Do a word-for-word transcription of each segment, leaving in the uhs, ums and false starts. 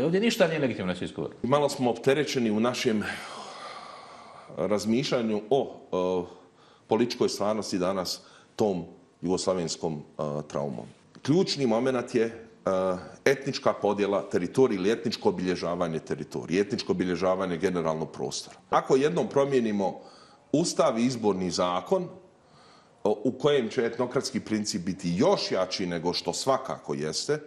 Ovdje ništa nije legitimno na svjetskom vrhu. Malo smo opterećeni u našem razmišljanju o, o političkoj stvarnosti danas tom jugoslavenskom a, traumom. Ključni moment je a, etnička podjela teritorije ili etničko obilježavanje teritorije, etničko obilježavanje generalnog prostora. Ako jednom promijenimo Ustav i izborni zakon, u kojem će etnokratski princip biti još jači nego što svakako jeste,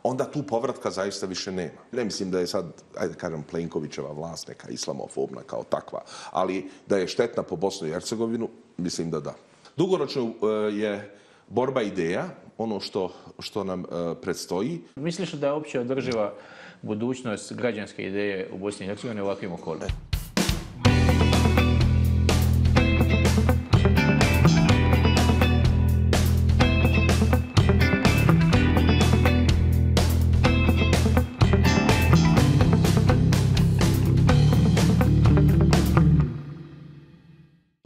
onda tu povratka zaista više nema. Ne mislim da je sad, ajde kažem, Plenkovićeva vlast neka islamofobna kao takva, ali da je štetna po Bosnu i Hercegovinu, mislim da da. Dugoročno je borba ideja, ono što, što nam predstoji. Misliš da je uopće održiva budućnost građanske ideje u Bosni i Hercegovini u ovakvim okolnostima?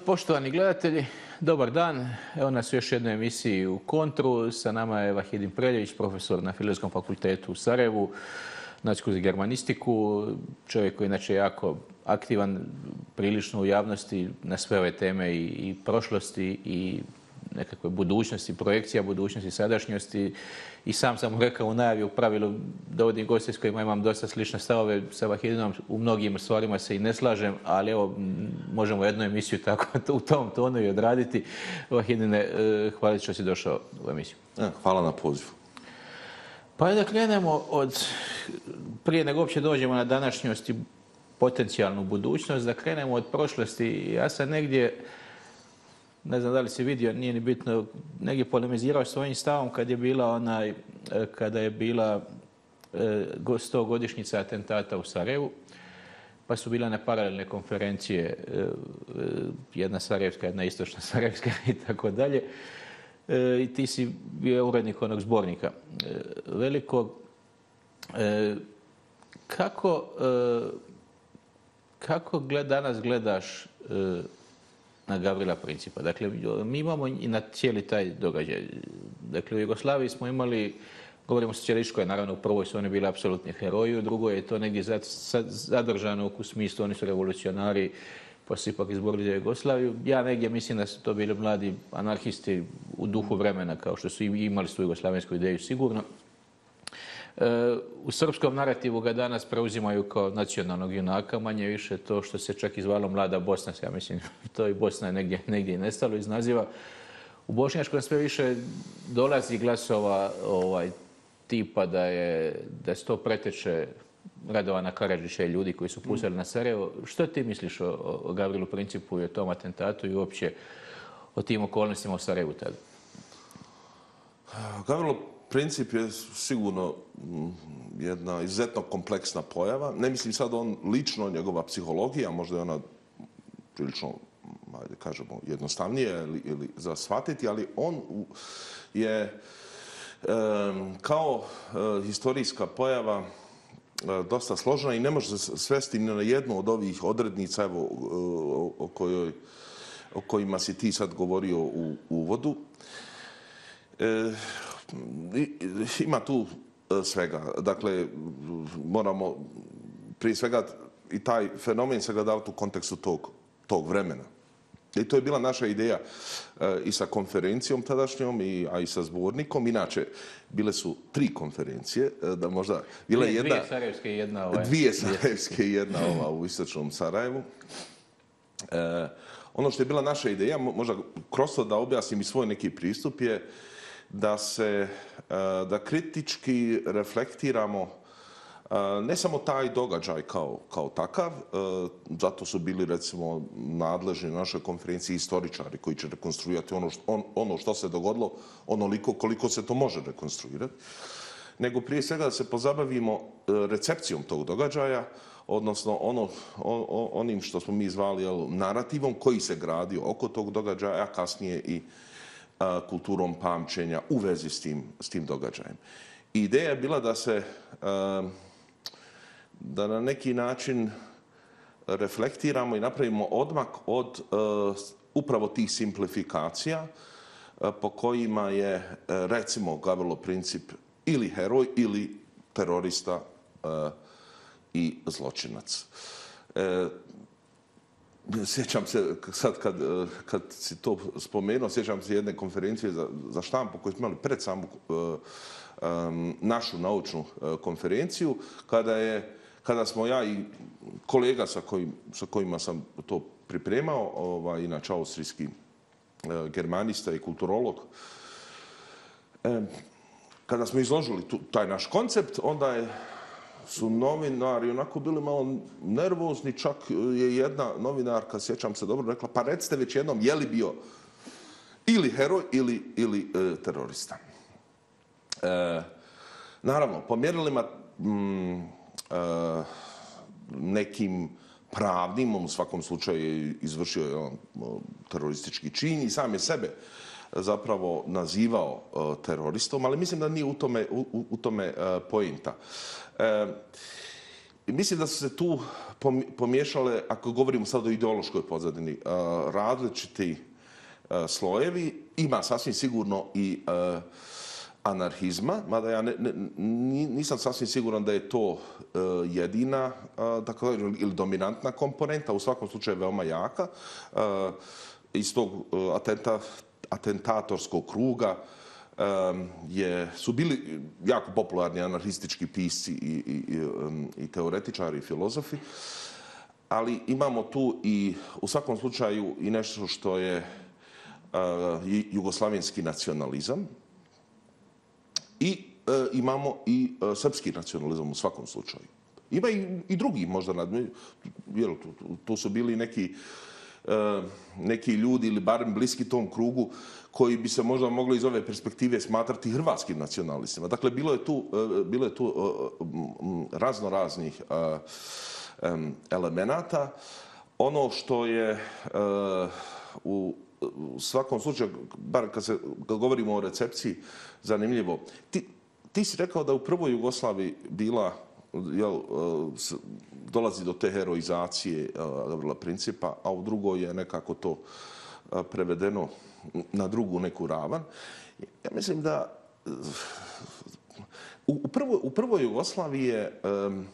Poštovani gledatelji, dobar dan. Evo nas u još jednoj emisiji u Kontru. Sa nama je Vahidin Preljević, profesor na Filozofskom fakultetu u Sarajevu, naciku za germanistiku, čovjek koji je inače jako aktivan prilično u javnosti na sve ove teme i, i prošlosti i nekakve budućnosti, projekcija budućnosti, sadašnjosti. I sam sam mu rekao u najavi, u pravilu dovodim goste s kojima imam dosta slične stavove. Sa Vahidinom u mnogim stvarima se i ne slažem, ali evo, možemo jednu emisiju tako u tom tonu i odraditi. Vahidine, hvala što si došao u emisiju. Hvala na pozivu. Pa da krenemo od, prije nego uopće dođemo na današnjost i potencijalnu budućnost, da krenemo od prošlosti. Ja sam negdje, ne znam da li si vidio, nije ni bitno, negdje polemizirao svojim stavom kad je bila onaj, kada je bila stogodišnjica atentata u Sarajevu, pa su bila na paralelne konferencije, jedna sarajevska, jedna istočna sarajevska i tako dalje. I ti si bio urednik onog zbornika velikog. Kako, kako gled, danas gledaš na Gavrila Principa? Dakle, mi imamo i na cijeli taj događaj. Dakle, u Jugoslaviji smo imali, govorimo o socijalističkoj, naravno u prvoj su oni bili apsolutni heroji, u drugoj je to negdje zadržano u smislu, oni su revolucionari, pa su ipak izborili za Jugoslaviju. Ja negdje mislim da su to bili mladi anarhisti u duhu vremena, kao što su imali su jugoslavensku ideju sigurno. U srpskom narativu ga danas preuzimaju kao nacionalnog junaka, manje više to što se čak izvalo Mlada Bosna, ja mislim, to i Bosna je negdje, negdje i nestalo iz naziva. U bošnjačkom sve više dolazi glasova ovaj, tipa da je, da se to preteče Radovana Karadžića i ljudi koji su pustili na Sarajevo. Što ti misliš o, o Gavrilu Principu i o tom atentatu i uopće o tim okolnostima u Sarajevu tada? Gavrilo Princip je sigurno jedna izuzetno kompleksna pojava. Ne mislim sad on lično, njegova psihologija, možda je ona prilično, ajde kažemo, jednostavnije ili, ili za shvatiti, ali on je e, kao e, historijska pojava e, dosta složena i ne može se svesti ni na jednu od ovih odrednica evo, o, o, kojoj, o kojima si ti sad govorio u uvodu. E, Ima tu svega. Dakle, moramo prije svega i taj fenomen se ga davati u kontekstu tog, tog vremena. I to je bila naša ideja i sa konferencijom tadašnjom, i, a i sa zbornikom. Inače, bile su tri konferencije, da možda... Bila dvije, jedna, dvije sarajevske i jedna ova. Dvije sarajevske i jedna ova u istočnom Sarajevu. E, ono što je bila naša ideja, možda kroz to da objasnim i svoj neki pristup, je da se, da kritički reflektiramo ne samo taj događaj kao, kao takav, zato su bili recimo nadležni na našoj konferenciji istoričari koji će rekonstruirati ono što, on, ono što se dogodilo onoliko koliko se to može rekonstruirati, nego prije svega da se pozabavimo recepcijom tog događaja, odnosno ono, on, onim što smo mi zvali jel, narativom koji se gradio oko tog događaja, a kasnije i kulturom pamćenja u vezi s tim, s tim događajem. Ideja je bila da se da na neki način reflektiramo i napravimo odmak od upravo tih simplifikacija po kojima je recimo Gavrilo Princip ili heroj ili terorista i zločinac. E, sjećam se, sad kad, kad si to spomenuo, sjećam se jedne konferencije za, za štampu koju smo imali pred samu um, našu naučnu konferenciju, kada, je, kada smo ja i kolega sa, kojim, sa kojima sam to pripremao, ovaj, inače austrijski uh, germanista i kulturolog, e, kada smo izložili tu, taj naš koncept, onda je su novinari onako bili malo nervozni, čak je jedna novinarka, sjećam se dobro, rekla, pa recite već jednom, je li bio ili heroj ili, ili e, terorista. E, naravno, po mjerilima mm, e, nekim pravnim, u svakom slučaju je izvršio je on teroristički čin i sam je sebe zapravo nazivao uh, teroristom, ali mislim da nije u tome, u, u tome uh, pointa. E, mislim da su se tu pomiješale, ako govorimo sad o ideološkoj pozadini, uh, različiti uh, slojevi. Ima sasvim sigurno i uh, anarhizma, mada ja ne, ne, nisam sasvim siguran da je to uh, jedina uh, dakle, ili dominantna komponenta, u svakom slučaju veoma jaka. Uh, iz tog uh, atenta atentatorskog kruga um, je, su bili jako popularni anarhistički pisci i, i, um, i teoretičari i filozofi, ali imamo tu i u svakom slučaju i nešto što je uh, jugoslavenski nacionalizam i uh, imamo i uh, srpski nacionalizam u svakom slučaju. Ima i, i drugi možda, jer tu, tu su bili neki Uh, neki ljudi ili barem bliski tom krugu koji bi se možda mogli iz ove perspektive smatrati hrvatskim nacionalistima. Dakle, bilo je tu, uh, bilo je tu uh, razno raznih uh, um, elemenata. Ono što je uh, u, u svakom slučaju, bar kad, se, kad govorimo o recepciji, zanimljivo. Ti, ti si rekao da u prvoj Jugoslaviji bila jel, dolazi do te heroizacije Gavrila Principa, a u drugoj je nekako to prevedeno na drugu neku ravan. Ja mislim da u prvoj, u prvoj Jugoslaviji je, um,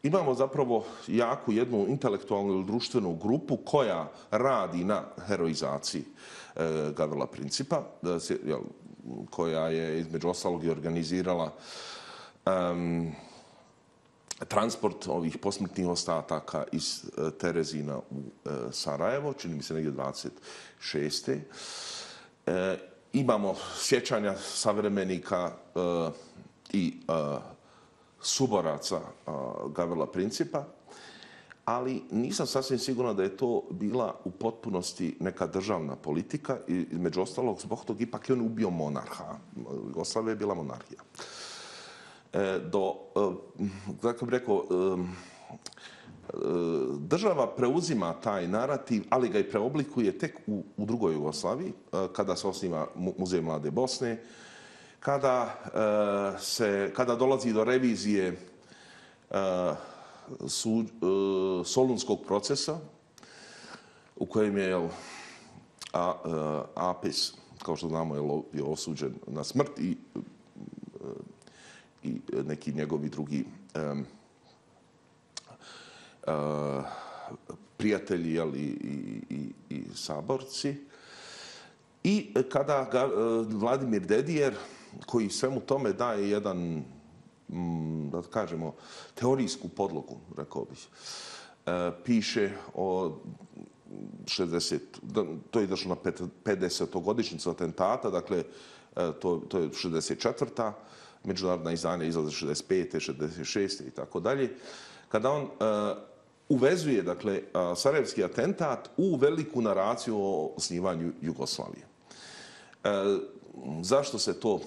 imamo zapravo jaku jednu intelektualnu ili društvenu grupu koja radi na heroizaciji uh, Gavrila Principa, da se, jel, koja je između ostalog i organizirala um, transport ovih posmrtnih ostataka iz e, Terezina u e, Sarajevo, čini mi se negdje dvadeset šeste. E, imamo sjećanja savremenika e, i e, suboraca e, Gavrila Principa, ali nisam sasvim siguran da je to bila u potpunosti neka državna politika i između ostalog zbog tog ipak je on ubio monarha. Jugoslavija je bila monarhija. Do, kako bih rekao, država preuzima taj narativ, ali ga i preoblikuje tek u, u drugoj Jugoslaviji, kada se osniva Muzej Mlade Bosne, kada, se, kada dolazi do revizije su, Solunskog procesa, u kojem je jel, a, Apis, kao što znamo, je, je osuđen na smrt i i neki njegovi drugi um, uh, prijatelji jel, i, i, i, i saborci. I kada ga, uh, Vladimir Dedijer, koji svemu tome daje jedan, mm, da kažemo, teorijsku podlogu, rekao bih, uh, piše o šezdeset, to je došlo na pedesetogodišnjicu atentata, dakle, uh, to, to je šezdeset četvrta međunarodna izdanja izlaze šezdeset pete, šezdeset šeste i tako dalje. Kada on uh, uvezuje, dakle, uh, sarajevski atentat u veliku naraciju o osnivanju Jugoslavije. Uh, zašto se to uh,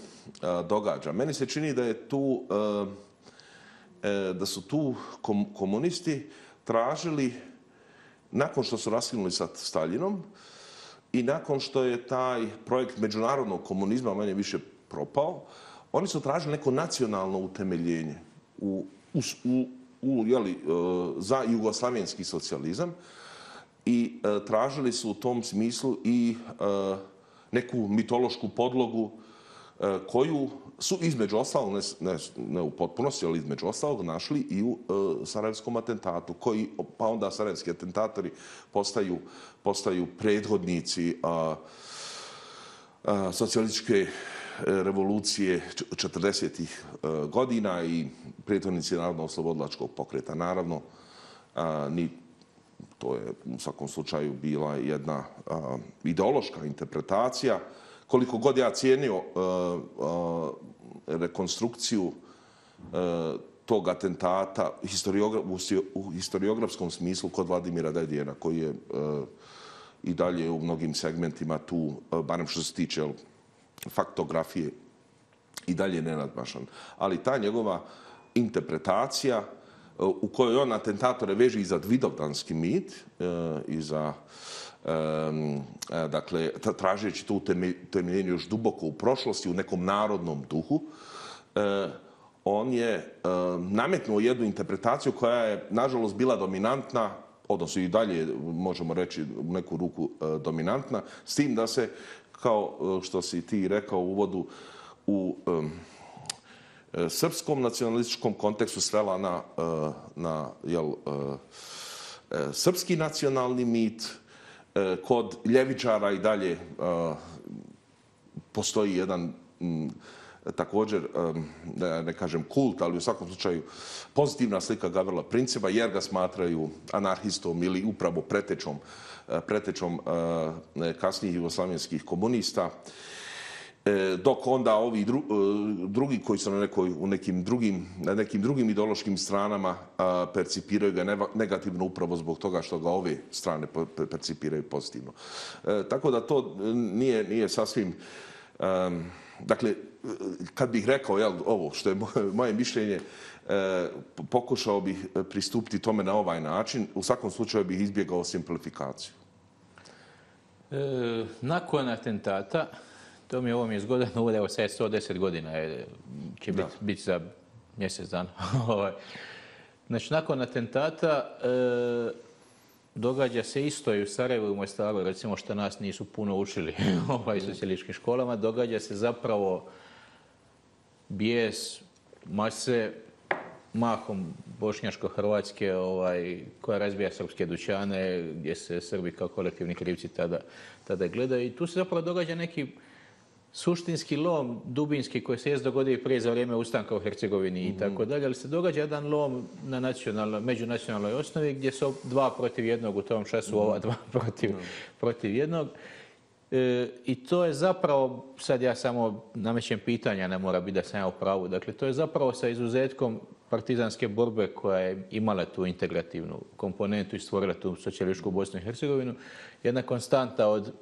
događa? Meni se čini da je tu, uh, uh, da su tu kom komunisti tražili, nakon što su raskinuli sa Staljinom i nakon što je taj projekt međunarodnog komunizma manje više propao, oni su tražili neko nacionalno utemeljenje u, u, u, u, jeli, za jugoslavenski socijalizam i e, tražili su u tom smislu i e, neku mitološku podlogu e, koju su između ostalog, ne, ne, ne u potpunosti, ali između ostalog našli i u e, sarajevskom atentatu, koji, pa onda sarajevski atentatori postaju, postaju prethodnici a, a, socijalističke revolucije četrdesetih godina i prethodnici narodno-oslobodilačkog pokreta. Naravno, a, ni, to je u svakom slučaju bila jedna a, ideološka interpretacija. Koliko god ja cijenio uh, uh, rekonstrukciju uh, tog atentata historiogra u historiografskom smislu kod Vladimira Dedijera, koji je uh, i dalje u mnogim segmentima tu, uh, barem što se tiče faktografije, i dalje nenadmašan. Ali ta njegova interpretacija uh, u kojoj on atentatore veže i za vidovdanski mit uh, i za Um, dakle, tražeći to utemeljenje još duboko u prošlosti, u nekom narodnom duhu, uh, on je uh, nametnuo jednu interpretaciju koja je, nažalost, bila dominantna, odnosno i dalje, možemo reći, u neku ruku uh, dominantna, s tim da se, kao uh, što si ti rekao u uvodu, u um, srpskom nacionalističkom kontekstu svela na, uh, na jel, uh, uh, srpski nacionalni mit. Kod ljevičara i dalje uh, postoji jedan m, također, um, da ne kažem kult, ali u svakom slučaju pozitivna slika Gavrila Principa, jer ga smatraju anarhistom ili upravo pretečom, uh, pretečom uh, kasnijih jugoslavenskih komunista. Dok onda ovi dru, drugi koji su na, nekoj, u nekim drugim, na nekim drugim ideološkim stranama a, percipiraju ga negativno upravo zbog toga što ga ove strane percipiraju pozitivno. E, tako da to nije, nije sasvim... Um, dakle, kad bih rekao jel, ovo što je moje, moje mišljenje, e, pokušao bih pristupiti tome na ovaj način, u svakom slučaju bih izbjegao simplifikaciju. E, nakon atentata, to mi je ovo mi je zgodno, evo sad sto deset godina je, će biti bit za mjesec dana. Znači, nakon atentata e, događa se isto i u Sarajevu i u Mostaru, recimo što nas nisu puno učili ovaj, socijalističkim školama, događa se zapravo bijes mase, mahom bošnjaško-hrvatske, ovaj, koja razbija srpske dućane, gdje se Srbi kao kolektivni krivci tada, tada gledaju. I tu se zapravo događa neki suštinski lom, dubinski, koji se je dogodio prije za vrijeme ustanka u Hercegovini i tako dalje, ali se događa jedan lom na nacionalnoj, međunacionalnoj osnovi gdje su dva protiv jednog u tom času, ova dva protiv, protiv jednog. E, I to je zapravo, sad ja samo namećem pitanja, ne mora biti da sam ja u pravu, dakle to je zapravo sa izuzetkom partizanske borbe koja je imala tu integrativnu komponentu i stvorila tu socijalističku Bosnu i Hercegovinu, jedna konstanta od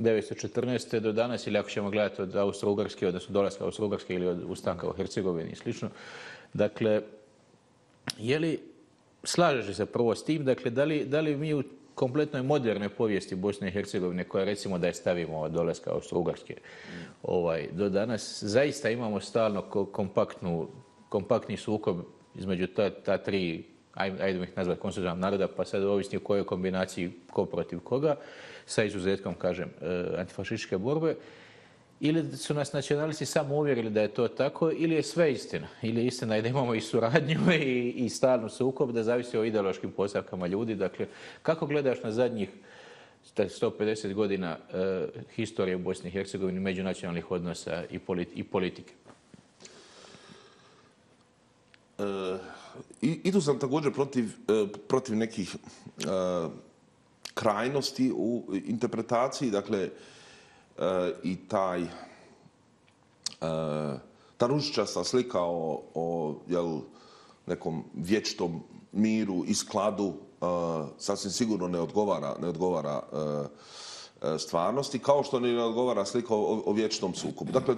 devetsto četrnaeste do danas, ili ako ćemo gledati od Austro-Ugarske, odnosno dolaska Austro-Ugarske ili od ustanka u Hercegovini i slično. Dakle, je li, slažeš se prvo s tim, dakle, da li, da li mi u kompletnoj modernoj povijesti Bosne i Hercegovine, koja recimo da je stavimo od dolaska Austro-Ugarske ovaj, do danas, zaista imamo stalno kompaktnu, kompaktni sukob između ta, ta tri, ajde ih nazvati konstitutivnog naroda, pa sad ovisni u kojoj kombinaciji ko protiv koga, sa izuzetkom, kažem, antifašističke borbe, ili su nas nacionalisti samo uvjerili da je to tako, ili je sve istina. Ili je istina da imamo i suradnju i, i stalnu sukob, da zavisi o ideološkim postavkama ljudi. Dakle, kako gledaš na zadnjih sto pedeset godina e, historije u Bosni i Hercegovini, međunacionalnih odnosa i, politi i politike? E, I tu sam također protiv, protiv nekih e, krajnosti u interpretaciji, dakle, e, i taj, e, ta ružičasta slika o, o jel, nekom vječitom miru i skladu e, sasvim sigurno ne odgovara, ne odgovara e, stvarnosti, kao što ne odgovara slika o, o vječitom sukobu. Dakle,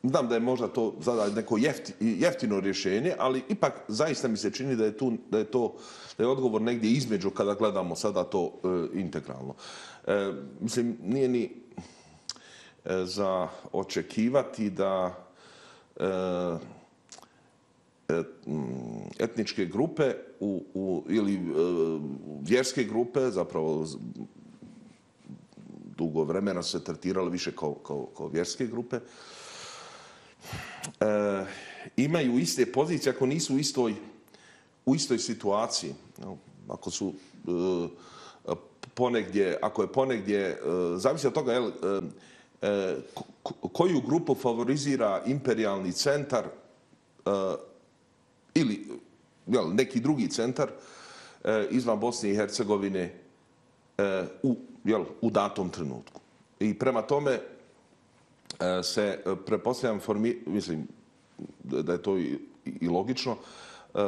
znam da je možda to sada neko jefti, jeftino rješenje, ali ipak zaista mi se čini da je, tu, da je to da je odgovor negdje između kada gledamo sada to e, integralno. E, mislim, nije ni e, za očekivati da e, etničke grupe u, u, ili e, vjerske grupe, zapravo dugo vremena su se tretirale više kao, kao, kao vjerske grupe. E, imaju iste pozicije ako nisu u istoj, u istoj situaciji. Ako su e, ponegdje, ako je ponegdje, e, zavisi od toga jel, e, e, koju grupu favorizira imperijalni centar e, ili jel, neki drugi centar e, izvan Bosne i Hercegovine e, u, jel, u datom trenutku. I prema tome e, se pretpostavljam, formi, mislim da je to i, i logično, e,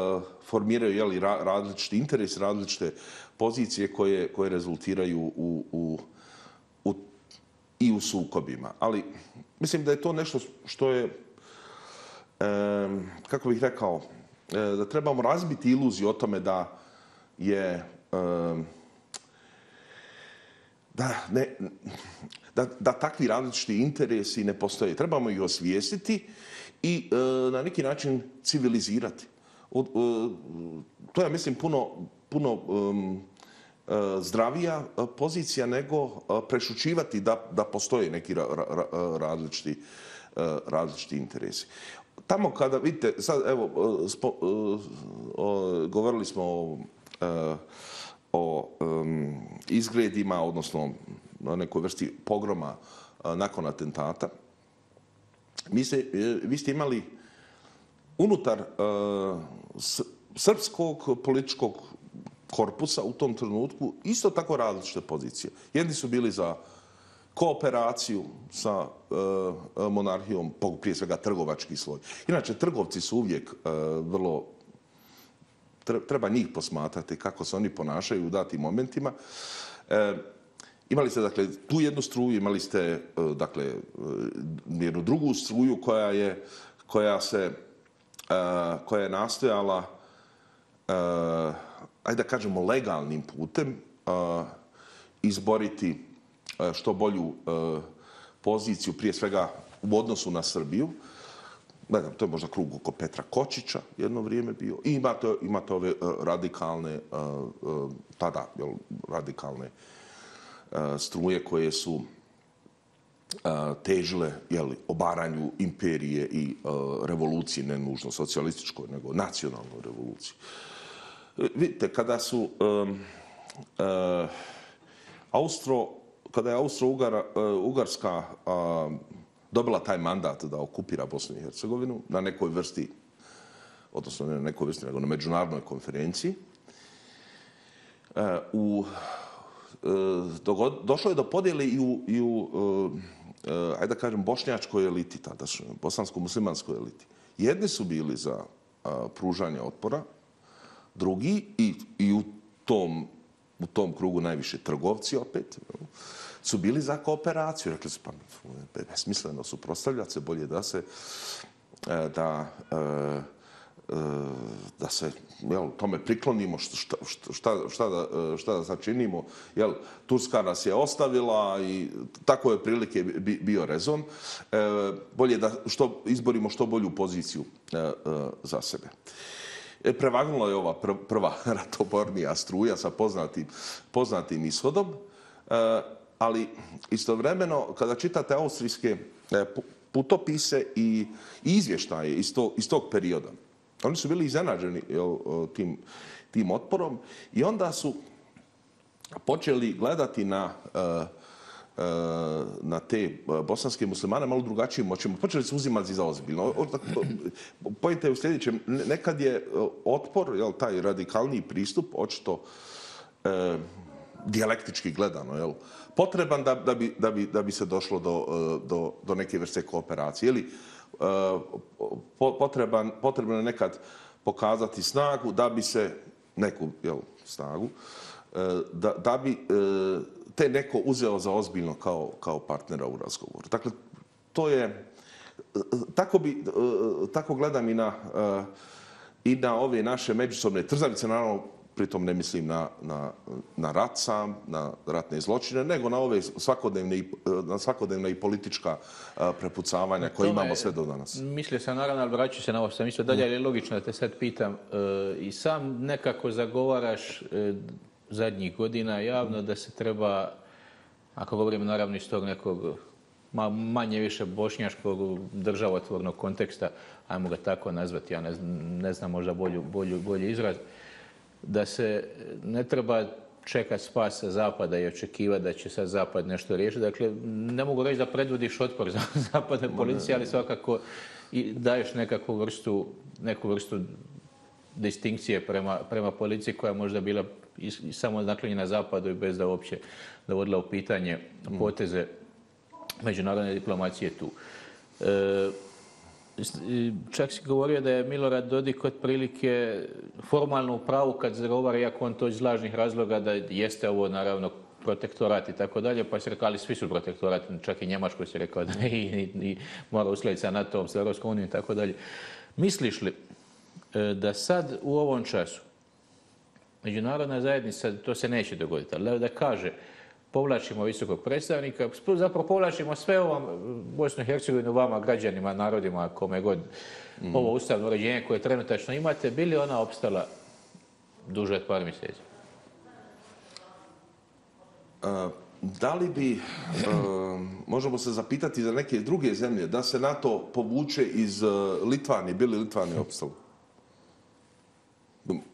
formiraju jel, ra, različiti interes, različite pozicije koje, koje rezultiraju u, u, u, i u sukobima. Ali mislim da je to nešto što je, e, kako bih rekao, da trebamo razbiti iluziju o tome da je da, ne, da, da takvi različiti interesi ne postoje. Trebamo ih osvijestiti i na neki način civilizirati. To je, mislim, puno, puno zdravija pozicija nego prešućivati da, da postoje neki ra, ra, različiti, različiti interesi. Tamo kada, vidite, sad evo, spo, o, o, govorili smo o, o um, izgledima, odnosno o nekoj vrsti pogroma a, nakon atentata. Mi se, vi ste imali unutar a, s, srpskog političkog korpusa u tom trenutku isto tako različite pozicije. Jedni su bili za kooperaciju sa e, monarhijom, prije svega trgovački sloj. Inače, trgovci su uvijek e, vrlo, treba njih posmatrati kako se oni ponašaju u datim momentima. E, imali ste, dakle, tu jednu struju, imali ste, e, dakle, jednu drugu struju koja je, koja se, e, koja je nastojala, e, ajde da kažemo, legalnim putem e, izboriti što bolju e, poziciju, prije svega u odnosu na Srbiju. Gledam, to je možda krug oko Petra Kočića jedno vrijeme bio. I imate, imate ove radikalne, e, tada jel, radikalne e, struje koje su e, težile jel, obaranju imperije i e, revolucije, ne nužno socijalističkoj, nego nacionalnoj revoluciji. E, vidite, kada su e, e, Austro kada je Austro-Ugarska dobila taj mandat da okupira Bosnu i Hercegovinu na nekoj vrsti, odnosno ne na nekoj vrsti, nego na međunarodnoj konferenciji, u, došlo je do podjele i u, i u ajde da kažem, bošnjačkoj eliti, tadašnjoj, bosansko-muslimanskoj eliti. Jedni su bili za pružanje otpora, drugi i, i u tom u tom krugu najviše trgovci opet, su bili za kooperaciju. Rekli su, pa besmisleno suprotstavljati se, bolje da se da, da se jel, tome priklonimo, šta, šta, šta, da, šta da začinimo. Jel, Turska nas je ostavila i tako je prilike bio rezon. Bolje da što, izborimo što bolju poziciju za sebe. Prevagnula je ova prva ratobornija struja sa poznatim, poznatim ishodom, ali istovremeno kada čitate austrijske putopise i izvještaje iz tog, iz tog perioda, oni su bili iznenađeni tim, tim otporom i onda su počeli gledati na na te bosanske muslimane malo drugačijim očima. Počeli su uzimati za ozbiljno. Pojete je u sljedećem. Nekad je otpor, jel, taj radikalniji pristup, očito e, dijalektički gledano, jel, potreban da, da, bi, da, bi, da bi se došlo do, do, do neke vrste kooperacije. Ili e, potreban, potrebno je nekad pokazati snagu da bi se, neku jel, snagu, e, da, da bi e, te neko uzeo za ozbiljno kao, kao partnera u razgovoru. Dakle, to je, tako, bi, tako gledam i na, i na ove naše međusobne trzavice, naravno, pritom ne mislim na, na, na rat sam, na ratne zločine, nego na ove svakodnevne, na svakodnevne i politička prepucavanja koje imamo sve do danas. Mislio sam, naravno, ali vraću se na ovo što sam mislio dalje, ali je logično da te sad pitam. I sam nekako zagovaraš zadnjih godina javno da se treba ako govorimo naravno iz tog nekog manje više bošnjaškog državotvornog konteksta, ajmo ga tako nazvati, ja ne znam, ne znam možda bolju, bolju, bolji izraz, da se ne treba čekati spas sa Zapada i očekivati da će sad Zapad nešto riješiti. Dakle, ne mogu reći da predvodiš otpor za zapadne policije, ali svakako i daješ nekakvu vrstu, neku vrstu distinkcije prema, prema policiji koja možda bila i samo naklonjena Zapadu i bez da uopće dovodila u pitanje poteze međunarodne diplomacije tu. E, čak si govorio da je Milorad Dodik otprilike formalno u pravu kad zagovara, iako on to iz lažnih razloga, da jeste ovo naravno protektorat i tako dalje, pa si rekao, ali svi su protektorat, čak i Njemačkoj si rekao da i, i, i mora uskladiti sa NATO-om, sa Europskom unijom i tako dalje. Misliš li da sad u ovom času međunarodna zajednica, to se neće dogoditi, ali da kaže povlačimo visokog predstavnika, zapravo povlačimo sve ovom Bosnu i Hercegovinu, vama, građanima, narodima, kome god mm. ovo ustavno uređenje koje trenutačno imate, bi li ona opstala duže od par mjeseci? Uh, da li bi, uh, možemo se zapitati za neke druge zemlje, da se NATO povuče iz uh, Litvanije, bi li Litvanije opstalo?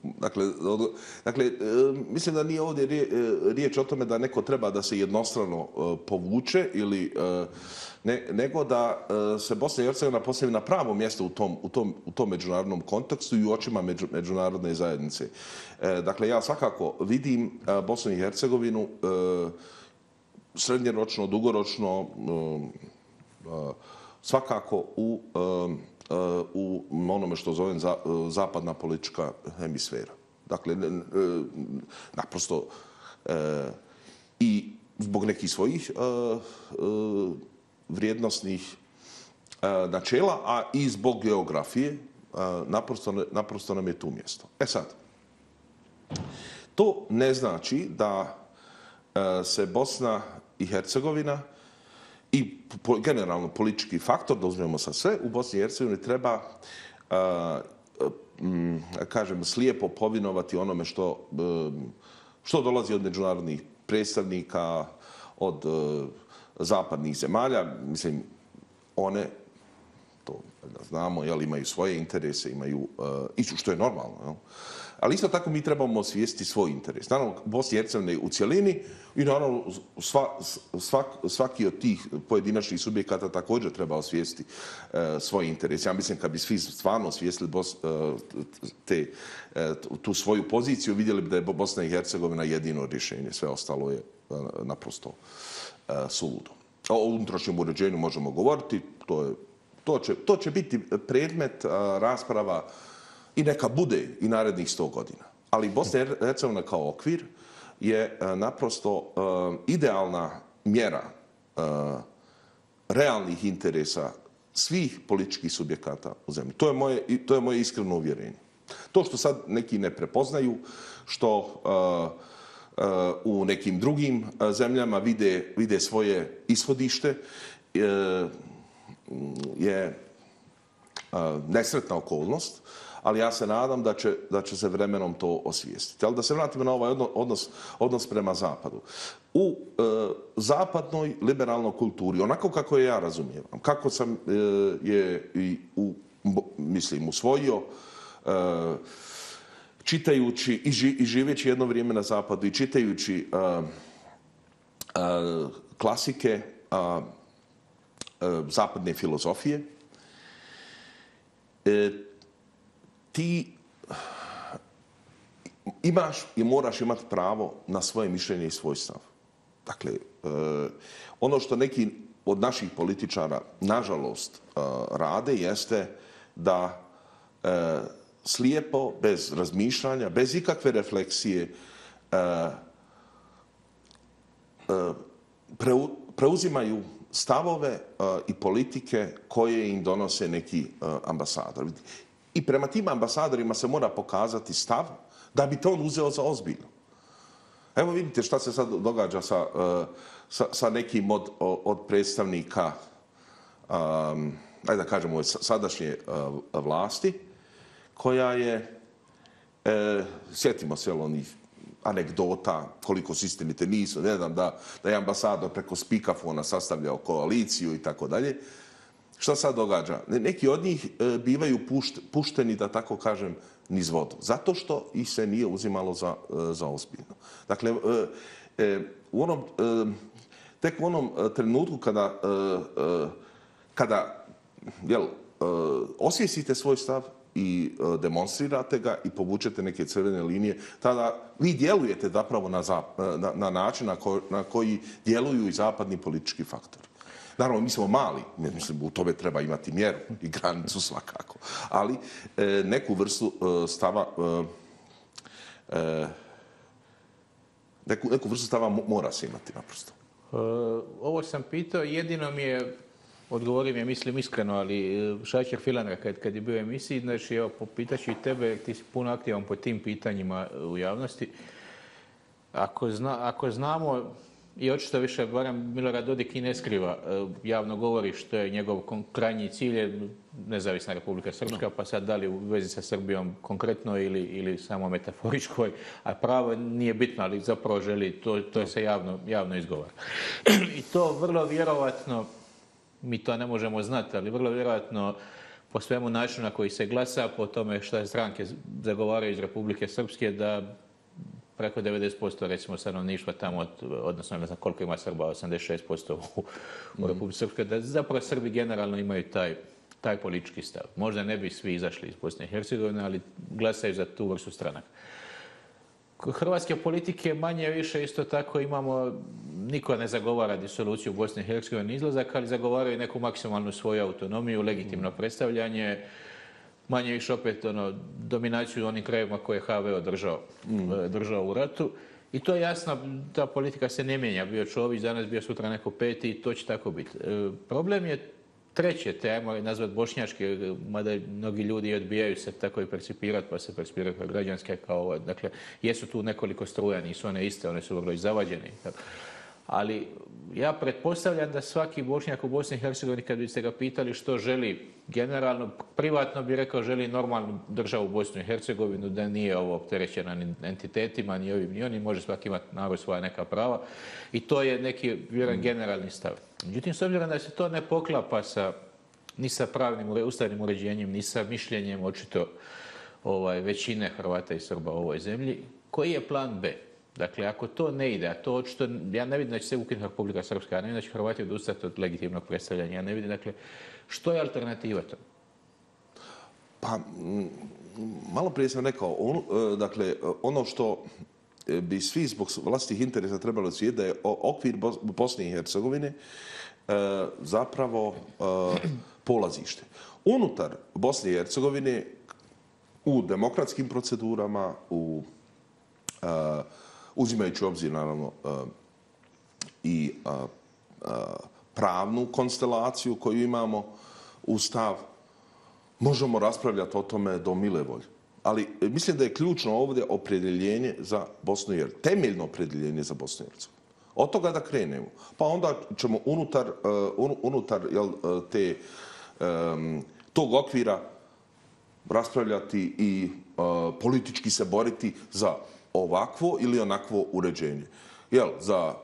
Dakle, dakle, mislim da nije ovdje riječ o tome da neko treba da se jednostrano povuče ili ne, nego da se Bosna i Hercegovina postavi na pravo mjesto u tom, u tom, u tom međunarodnom kontekstu i u očima među, međunarodne zajednice. Dakle, ja svakako vidim Bosnu i Hercegovinu srednjeročno, dugoročno, svakako u u onome što zovem zapadna politička hemisfera. Dakle, naprosto i zbog nekih svojih vrijednosnih načela, a i zbog geografije, naprosto, naprosto nam je tu mjesto. E sad, to ne znači da se Bosna i Hercegovina i generalno politički faktor, da uzmemo sa sve, u Bosni i Hercegovini treba, kažem, slijepo povinovati onome što, što dolazi od međunarodnih predstavnika, od zapadnih zemalja. Mislim, one, to znamo, jel, imaju svoje interese, imaju, i što je normalno, jel? Ali isto tako mi trebamo osvijestiti svoj interes. Naravno, Bosna i Hercegovina u cjelini i naravno sva, svak, svaki od tih pojedinačnih subjekata također treba osvijestiti uh, svoj interes. Ja mislim kad bi svi stvarno osvijestili Bos, uh, te, uh, tu svoju poziciju, vidjeli bi da je Bosna i Hercegovina jedino rješenje. Sve ostalo je uh, naprosto uh, suludo. O unutrašnjem uređenju možemo govoriti. To, je, to, će, to će biti predmet uh, rasprava i neka bude i narednih sto godina. Ali Bosna i Hercegovina kao okvir je naprosto idealna mjera realnih interesa svih političkih subjekata u zemlji. To je moje, to je moje iskreno uvjerenje. To što sad neki ne prepoznaju, što u nekim drugim zemljama vide, vide svoje ishodište, je nesretna okolnost, ali ja se nadam da će, da će se vremenom to osvijestiti. Ali da se vratimo na ovaj odnos, odnos prema Zapadu. U e, zapadnoj liberalnoj kulturi, onako kako je ja razumijevam, kako sam e, je i u, mislim, usvojio, e, čitajući i, ži, i živeći jedno vrijeme na Zapadu i čitajući e, e, klasike e, e, zapadne filozofije, e, ti imaš i moraš imati pravo na svoje mišljenje i svoj stav. Dakle, ono što neki od naših političara, nažalost, rade jeste da slijepo, bez razmišljanja, bez ikakve refleksije, preuzimaju stavove i politike koje im donose neki ambasador. I prema tim ambasadorima se mora pokazati stav da bi to on uzeo za ozbiljno. Evo vidite šta se sad događa sa, sa, sa nekim od, od predstavnika, um, ajde da kažemo, sadašnje uh, vlasti, koja je, e, sjetimo se onih anegdota, koliko su istinite nisu. Ne znam da, da je ambasador preko spikafona sastavljao koaliciju i tako dalje. Šta sad događa? Neki od njih e, bivaju pušt, pušteni, da tako kažem, niz vodu. Zato što ih se nije uzimalo za, e, za ozbiljno. Dakle, e, e, u onom, e, tek u onom trenutku kada, e, e, kada jel, e, osvijestite svoj stav i e, demonstrirate ga i povučete neke crvene linije, tada vi djelujete zapravo na, na, na način na, ko, na koji djeluju i zapadni politički faktori. Naravno, mi smo mali, mislim, u tome treba imati mjeru i granicu svakako, ali e, neku vrstu e, stava e, e, neku, neku vrstu stava mora se imati naprosto. E, ovo sam pitao, jedino mi je, odgovorim je, mislim iskreno, ali Šačer Filanra kad, kad je bio u emisiji, znači, evo, popitaću i tebe, jer ti si puno aktivan po tim pitanjima u javnosti. Ako, zna, ako znamo, i očito više, barem Milorad Dodik i ne skriva, javno govori što je njegov krajnji cilj je nezavisna Republika Srpska, pa sad da li u vezi sa Srbijom konkretno ili, ili samo metaforičkoj, a pravo nije bitno, ali zapravo želi, to, to se javno, javno izgovara. I to vrlo vjerovatno, mi to ne možemo znati, ali vrlo vjerovatno po svemu načinu na koji se glasa, po tome šta stranke zagovaraju iz Republike Srpske, da preko devedeset posto recimo stanovništva tamo, odnosno ne znam koliko ima Srba, osamdeset šest posto u, u Republike Srpske, da zapravo Srbi generalno imaju taj, taj politički stav. Možda ne bi svi izašli iz Bosne i Hercegovine, ali glasaju za tu vrstu stranaka. Kod hrvatske politike manje više isto tako imamo, niko ne zagovara disoluciju Bosne i Hercegovine izlazak, ali zagovaraju neku maksimalnu svoju autonomiju, legitimno predstavljanje, manje više opet ono, dominaciju u onim krajevima koje je ha ve održao, mm. držao u ratu. I to je jasno, ta politika se ne mijenja. Bio Čović, danas bio sutra neko peti i to će tako biti. E, problem je treće, te ajmo nazvat bošnjačke, mada mnogi ljudi odbijaju se tako i percipirati, pa se percipiraju kao građanske, kao, dakle, jesu tu nekoliko struja, nisu one iste, one su vrlo i zavađene. Ali ja pretpostavljam da svaki Bošnjak u Bosni i Hercegovini, kad biste ga pitali što želi generalno, privatno bi rekao želi normalnu državu u Bosnu i Hercegovinu, da nije ovo opterećena ni entitetima, ni ovim, ni onim, može svaki imati narod svoja neka prava. I to je neki, vjerujem, generalni stav. Međutim, s obzirom da se to ne poklapa sa, ni sa pravnim ustavnim uređenjem, ni sa mišljenjem očito ovaj, većine Hrvata i Srba u ovoj zemlji, koji je plan be? Dakle, ako to ne ide, a to očito, ja ne vidim da će se ukinuti Republika Srpska, ja ne vidim da će Hrvati odustati od legitimnog predstavljanja, ja ne vidim, dakle, što je alternativa to? Pa, malo prije sam rekao, on, dakle, ono što bi svi zbog vlastitih interesa trebalo svijet da je okvir Bosne i Hercegovine zapravo polazište. Unutar Bosne i Hercegovine u demokratskim procedurama, u uzimajući u obzir, naravno, i pravnu konstelaciju koju imamo, ustav, možemo raspravljati o tome do mile volje. Ali mislim da je ključno ovdje opredjeljenje za Bosnu i Hercegovinu. Temeljno opredjeljenje za Bosnu i Hercegovinu. Od toga da krenemo. Pa onda ćemo unutar, unutar jel, te, tog okvira raspravljati i politički se boriti za ovakvo ili onakvo uređenje. Jel, za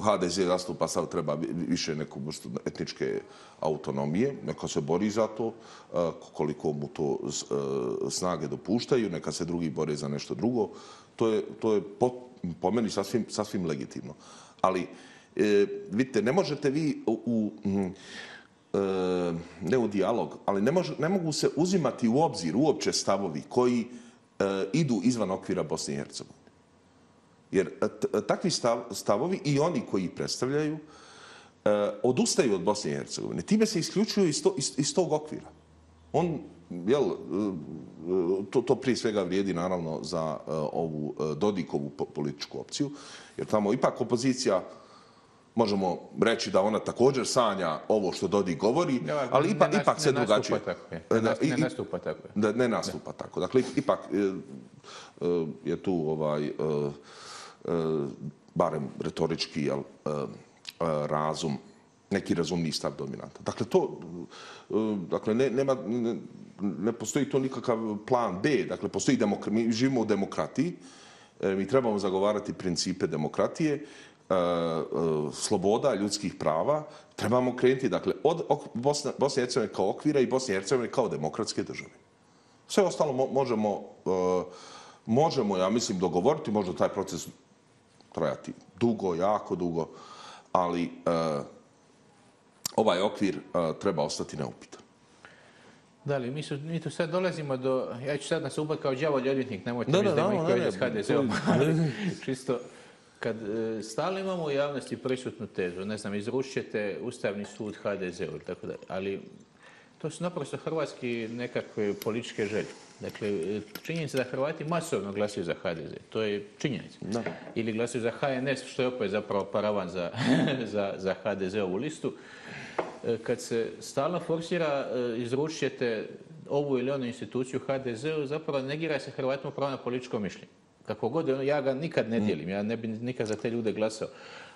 ha de ze zastupa sad treba više neku vrstu etničke autonomije, neka se bori za to, koliko mu to snage dopuštaju, neka se drugi bore za nešto drugo. To je, to je po, po meni sasvim, sasvim legitimno. Ali, e, vidite, ne možete vi u, u e, ne u dijalog, ali ne, može, ne mogu se uzimati u obzir uopće stavovi koji e, idu izvan okvira Bosne i Hercegovine. Jer takvi stav, stavovi i oni koji ih predstavljaju e, odustaju od Bosne i Hercegovine. Time se isključuju iz, to, iz, iz tog okvira. On, jel, to, to prije svega vrijedi naravno za e, ovu e, Dodikovu političku opciju, jer tamo ipak opozicija, možemo reći da ona također sanja ovo što Dodik govori, ja, ali ipak, ne, ipak se ne drugačije. Ne, ne, ne nastupa tako. Ne, ne nastupa ne. tako. Dakle, ipak je, je tu ovaj, barem retorički jel, razum, neki razumni stav dominanta. Dakle, to, dakle, ne, nema, ne, ne postoji to nikakav plan be. Dakle, postoji demokra, mi živimo u demokratiji Mi trebamo zagovarati principe demokratije, sloboda, ljudskih prava. Trebamo krenuti dakle, od Bosne i Hercegovine kao okvira i Bosne i Hercegovine kao demokratske države. Sve ostalo možemo, možemo, ja mislim, dogovoriti, možda taj proces trajati dugo, jako dugo, ali ovaj okvir treba ostati neupitan. Da li, mi, su, mi tu sad dolazimo do, ja ću sad nas ubati kao đavolji odvjetnik, nemojte mi da imamo koji s ha de zom, čisto, kad e, stalno imamo u javnosti prisutnu tezu, ne znam, izručit ćete Ustavni sud ha de zeu, tako da, ali to su naprosto hrvatski nekakve političke želje. Dakle, činjenica da Hrvati masovno glasuju za ha de ze, to je činjenica. Da. Ili glasuju za ha en es, što je opet zapravo paravan za, za, za ha de zeovu listu. Kad se stalno forsira, izručit ćete ovu ili onu instituciju ha de zeu, zapravo negira se Hrvatima pravo na političko mišljenje. Kako god, ja ga nikad ne dijelim, ja ne bi nikad za te ljude glasao.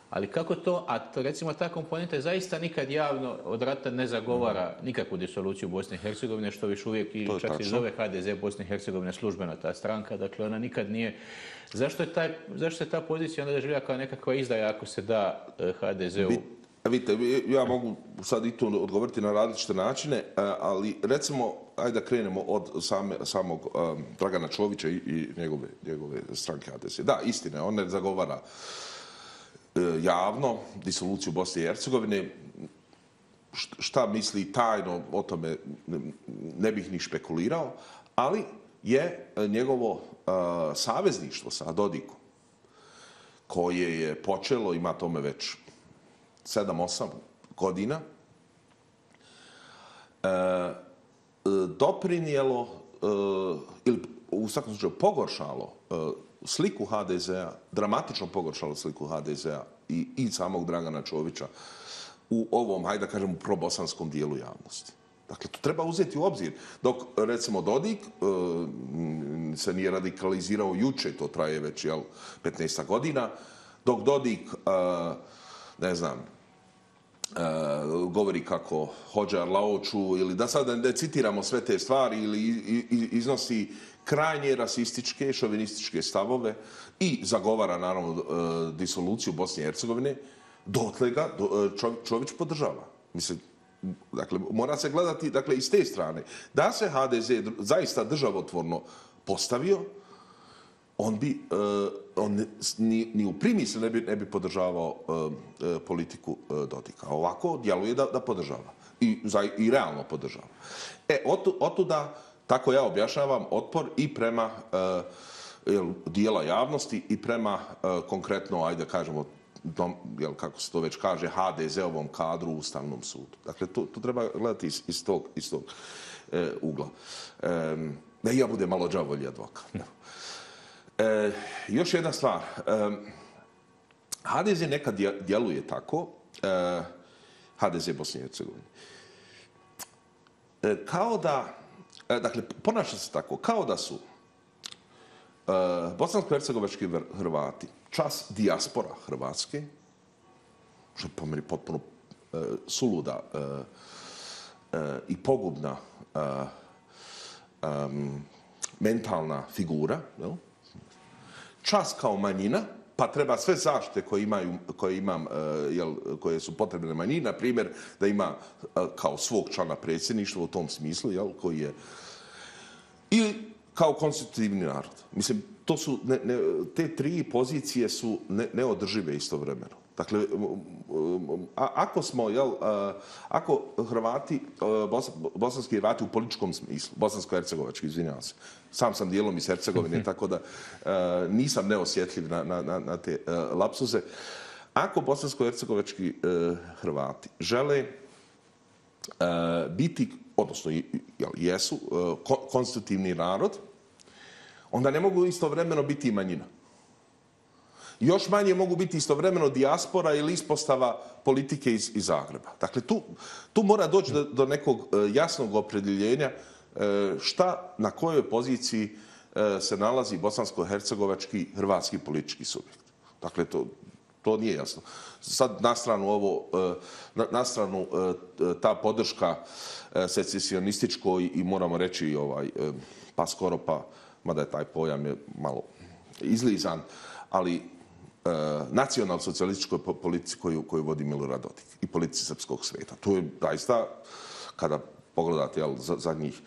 Ali kako to, a to, recimo ta komponenta zaista nikad javno od rata ne zagovara nikakvu disoluciju Bosne i Hercegovine, što više uvijek i čak se zove ha de ze Bosne i Hercegovine službeno ta stranka, dakle ona nikad nije. Zašto je taj, zašto se ta pozicija onda doživlja kao nekakva izdaja ako se da ha de zeu? Vidite, ja mogu sad i tu odgovoriti na različite načine, ali recimo, ajde da krenemo od same, samog um, Dragana Čovića i, i njegove, njegove stranke ha de ze. Da, istina, on ne zagovara uh, javno disoluciju Bosne i Hercegovine. Šta misli tajno, o tome ne, ne bih ni špekulirao, ali je njegovo uh, savezništvo sa Dodikom, koje je počelo, ima tome već sedam osam godina, e, doprinijelo e, ili u svakom slučaju pogoršalo e, sliku ha de zea, dramatično pogoršalo sliku ha de zea i, i samog Dragana Čovića u ovom, hajde da kažem, probosanskom dijelu javnosti. Dakle, to treba uzeti u obzir. Dok, recimo, Dodik e, se nije radikalizirao juče, to traje već jel, petnaest godina, dok Dodik, e, ne znam, Uh, govori kako hođa Arlaoču ili da sad ne citiramo sve te stvari ili iznosi krajnje rasističke, šovinističke stavove i zagovara naravno uh, disoluciju Bosne i Hercegovine, dotle ga uh, Čović podržava. Mislim, dakle, mora se gledati dakle, iz te strane. Da se ha de ze zaista državotvorno postavio, on bi, uh, on ni, ni u primisli ne bi, ne bi podržavao uh, politiku uh, Dodika. Ovako djeluje da, da podržava. I, za, i realno podržava. E, otu, otuda, tako ja objašnjavam, otpor i prema uh, jel, dijela javnosti i prema uh, konkretno, ajde kažemo, dom, jel, kako se to već kaže, ha de zeovom kadru u Ustavnom sudu. Dakle, to, to treba gledati iz, iz tog, iz tog uh, ugla. Um, da ja budem malo đavolji advokat. E, još jedna stvar. E, ha de ze nekad djeluje tako, e, ha de ze Bosne i Hercegovine, e, kao da, e, dakle, ponaša se tako, kao da su e, bosansko-hercegovački Hrvati čas dijaspora Hrvatske, što je po meni potpuno e, suluda e, e, i pogubna e, e, mentalna figura, jel? Čas kao manjina, pa treba sve zaštite koje, imaju, koje, imam, jel, koje su potrebne manjini, na primjer da ima kao svog člana predsjedništva u tom smislu, jel, koji je, ili kao konstitutivni narod. Mislim, to su, ne, ne, te tri pozicije su ne, neodržive istovremeno. Dakle, a, ako smo, jel, a, ako Hrvati, bos, bosanski Hrvati u političkom smislu, bosansko-hercegovački, izvinjavam se, sam sam dijelom iz Hercegovine, tako da a, nisam neosjetljiv na, na, na te a, lapsuze. Ako bosansko-hercegovački a, Hrvati žele a, biti, odnosno jel, jesu, a, konstitutivni narod, onda ne mogu istovremeno biti i manjina. Još manje mogu biti istovremeno dijaspora ili ispostava politike iz, iz Zagreba. Dakle, tu, tu mora doći do, do nekog jasnog opredjeljenja šta, na kojoj poziciji se nalazi bosansko-hercegovački hrvatski politički subjekt. Dakle, to, to nije jasno. Sad na stranu ovo, na, na stranu ta podrška secesionističkoj i moramo reći ovaj, pa skoro pa, mada je taj pojam je malo izlizan, ali e, nacionalno-socijalističkoj politici koju, koju vodi Milorad Dodik i politici srpskog sveta. To je zaista, kada pogledate jel, zadnjih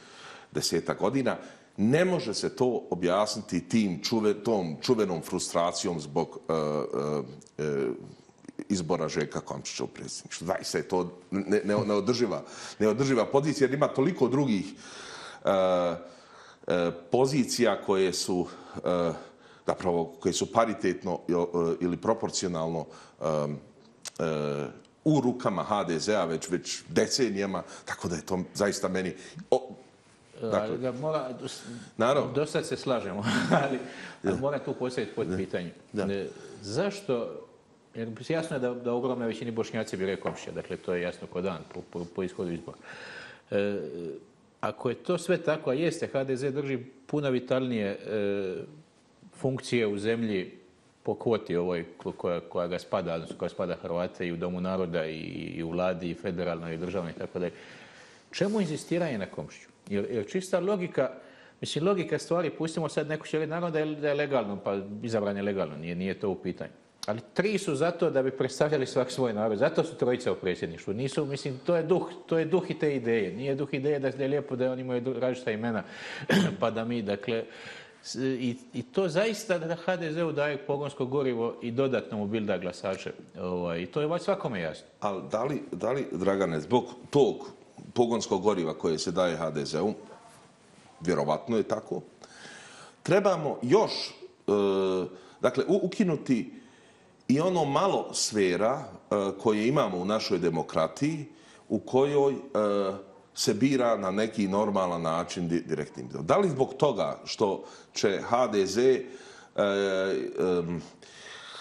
deseta godina, ne može se to objasniti tim čuve, tom čuvenom frustracijom zbog e, e, izbora Željka Komšića u predsjedništvu. Zaista je to ne, ne, neodrživa, neodrživa pozicija jer ima toliko drugih e, e, pozicija koje su e, zapravo koje su paritetno ili proporcionalno e, e, u rukama ha de zea već, već decenijama, tako da je to zaista meni... O, dakle, da mora, naravno. Dosta se slažemo, ali da. Mora tu postaviti pod pitanje. Da. Zašto, jer jasno je da, da ogromna većini Bošnjaci bi rekao Komšića, dakle to je jasno ko dan po, po, po ishodu izbora. E, ako je to sve tako, a jeste, ha de ze drži puno vitalnije e, funkcije u zemlji po kvoti ovoj koja, koja ga spada, odnosno koja spada Hrvate i u Domu naroda i, i u vladi i federalnoj i državnoj i tako dalje. Čemu inzistiranje na Komšiću? Jer, jer čista logika, mislim logika stvari, pustimo sad neko će reći naravno da je, da je legalno, pa izabran je legalno, nije, nije to u pitanju. Ali tri su zato da bi predstavljali svak svoj narod, zato su trojica u predsjedništvu. Nisu, mislim, to je duh, to je duh i te ideje. Nije duh ideje da je lijepo da oni imaju različita imena, pa da mi, dakle, I, i to zaista da ha de zeu daje pogonsko gorivo i dodatno mu bilda glasače. Ovaj, I to je već svakome jasno. Ali da li, da li, Dragane, zbog tog pogonskog goriva koje se daje ha de zeu, vjerovatno je tako, trebamo još e, dakle, ukinuti i ono malo sfera e, koje imamo u našoj demokratiji u kojoj e, se bira na neki normalan način direktnim. Da li zbog toga što će ha de ze e, e,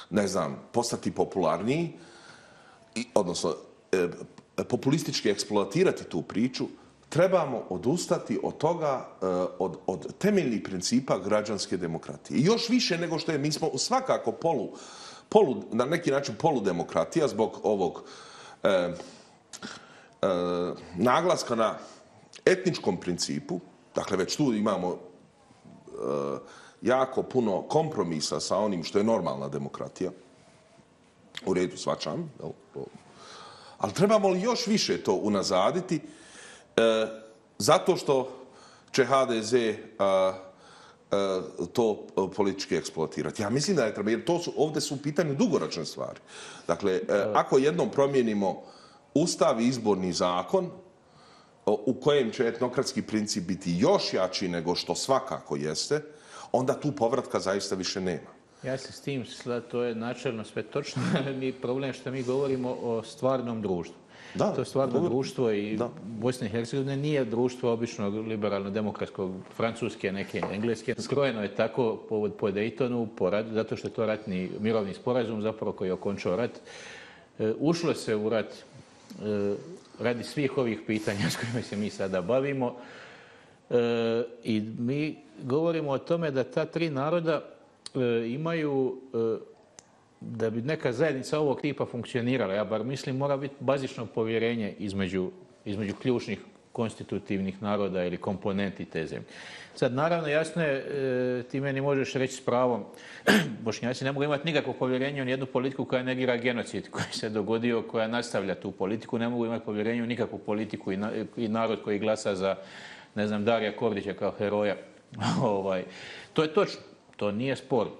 ne znam, postati popularniji, i, odnosno e, populistički eksploatirati tu priču, trebamo odustati od toga, e, od, od temeljnih principa građanske demokratije. I još više nego što je, mi smo svakako polu, polu na neki način poludemokratija zbog ovog e, E, naglaska na etničkom principu, dakle već tu imamo e, jako puno kompromisa sa onim što je normalna demokratija, u redu svačam, ali trebamo li još više to unazaditi, e, zato što će ha de ze a, a, to politički eksploatirati. Ja mislim da je treba, jer to su, ovdje su u pitanju dugoročne stvari. Dakle, e, ako jednom promijenimo Ustav i izborni zakon u kojem će etnokratski princip biti još jači nego što svakako jeste, onda tu povratka zaista više nema. Ja se s tim, to je načelno sve točno, mi problem je što mi govorimo o stvarnom društvu. Da, to stvarno dobro. društvo i da. Bosne i Hercegovine nije društvo običnog liberalno-demokratskog, francuske, neke engleske. Skrojeno je tako po, po Daytonu, po rat, zato što je to ratni mirovni sporazum zapravo koji je okončao rat. E, ušlo se u rat e, radi svih ovih pitanja s kojima se mi sada bavimo. E, I mi govorimo o tome da ta tri naroda e, imaju... E, da bi neka zajednica ovog tipa funkcionirala, ja bar mislim, mora biti bazično povjerenje između, između ključnih konstitutivnih naroda ili komponenti te zemlje. Sad, naravno, jasno je, ti meni možeš reći s pravom, Bošnjaci ne mogu imati nikakvo povjerenje u jednu politiku koja negira genocid koji se dogodio, koja nastavlja tu politiku, ne mogu imati povjerenje u nikakvu politiku i, na, i narod koji glasa za, ne znam, Darija Kordića kao heroja. ovaj, to je točno, to nije sporno.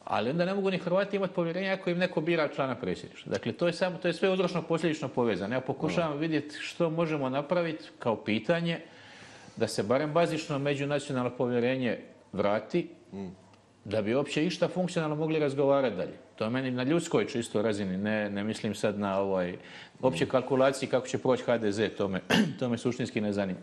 Ali onda ne mogu ni Hrvati imati povjerenja ako im neko bira člana predsjedništva. Dakle, to je, samo, to je sve uzročno-posljedično povezano. Ja pokušavam vidjeti što možemo napraviti kao pitanje da se barem bazično međunacionalno povjerenje vrati, mm. da bi uopće išta funkcionalno mogli razgovarati dalje. To je meni na ljudskoj čisto razini, ne, ne mislim sad na ovaj, opće kalkulaciji kako će proći ha de ze, to me, to me suštinski ne zanima.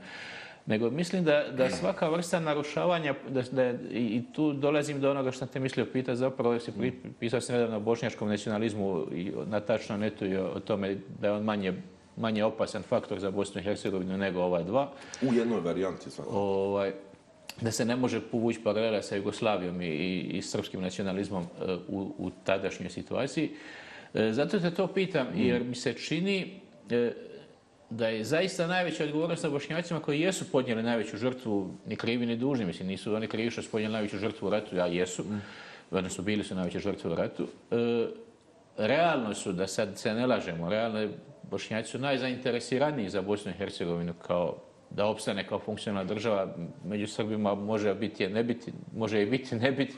Nego mislim da, da svaka vrsta narušavanja, da, da, i tu dolazim do onoga što sam te mislio pitati, zapravo si pisao sam nedavno o bošnjačkom nacionalizmu i na tačnom netu i o tome da je on manje, manje opasan faktor za Bosnu i Hercegovinu nego ova dva. U jednoj varijanti svakako. Ovaj, da se ne može povući paralela sa Jugoslavijom i, i, i srpskim nacionalizmom u, u tadašnjoj situaciji. Zato te to pitam, jer mi se čini... da je zaista najveća odgovornost na Bošnjacima koji jesu podnijeli najveću žrtvu, ni krivi ni dužni, mislim, nisu oni krivi što su podnijeli najveću žrtvu u ratu, ja jesu, mm. odnosno bili su najveće žrtve u ratu. E, realno su, da sad se ne lažemo, realno Bošnjaci su najzainteresiraniji za Bosnu i Hercegovinu kao da opstane kao funkcionalna država. Među Srbima može biti, ne biti, može i biti, ne biti.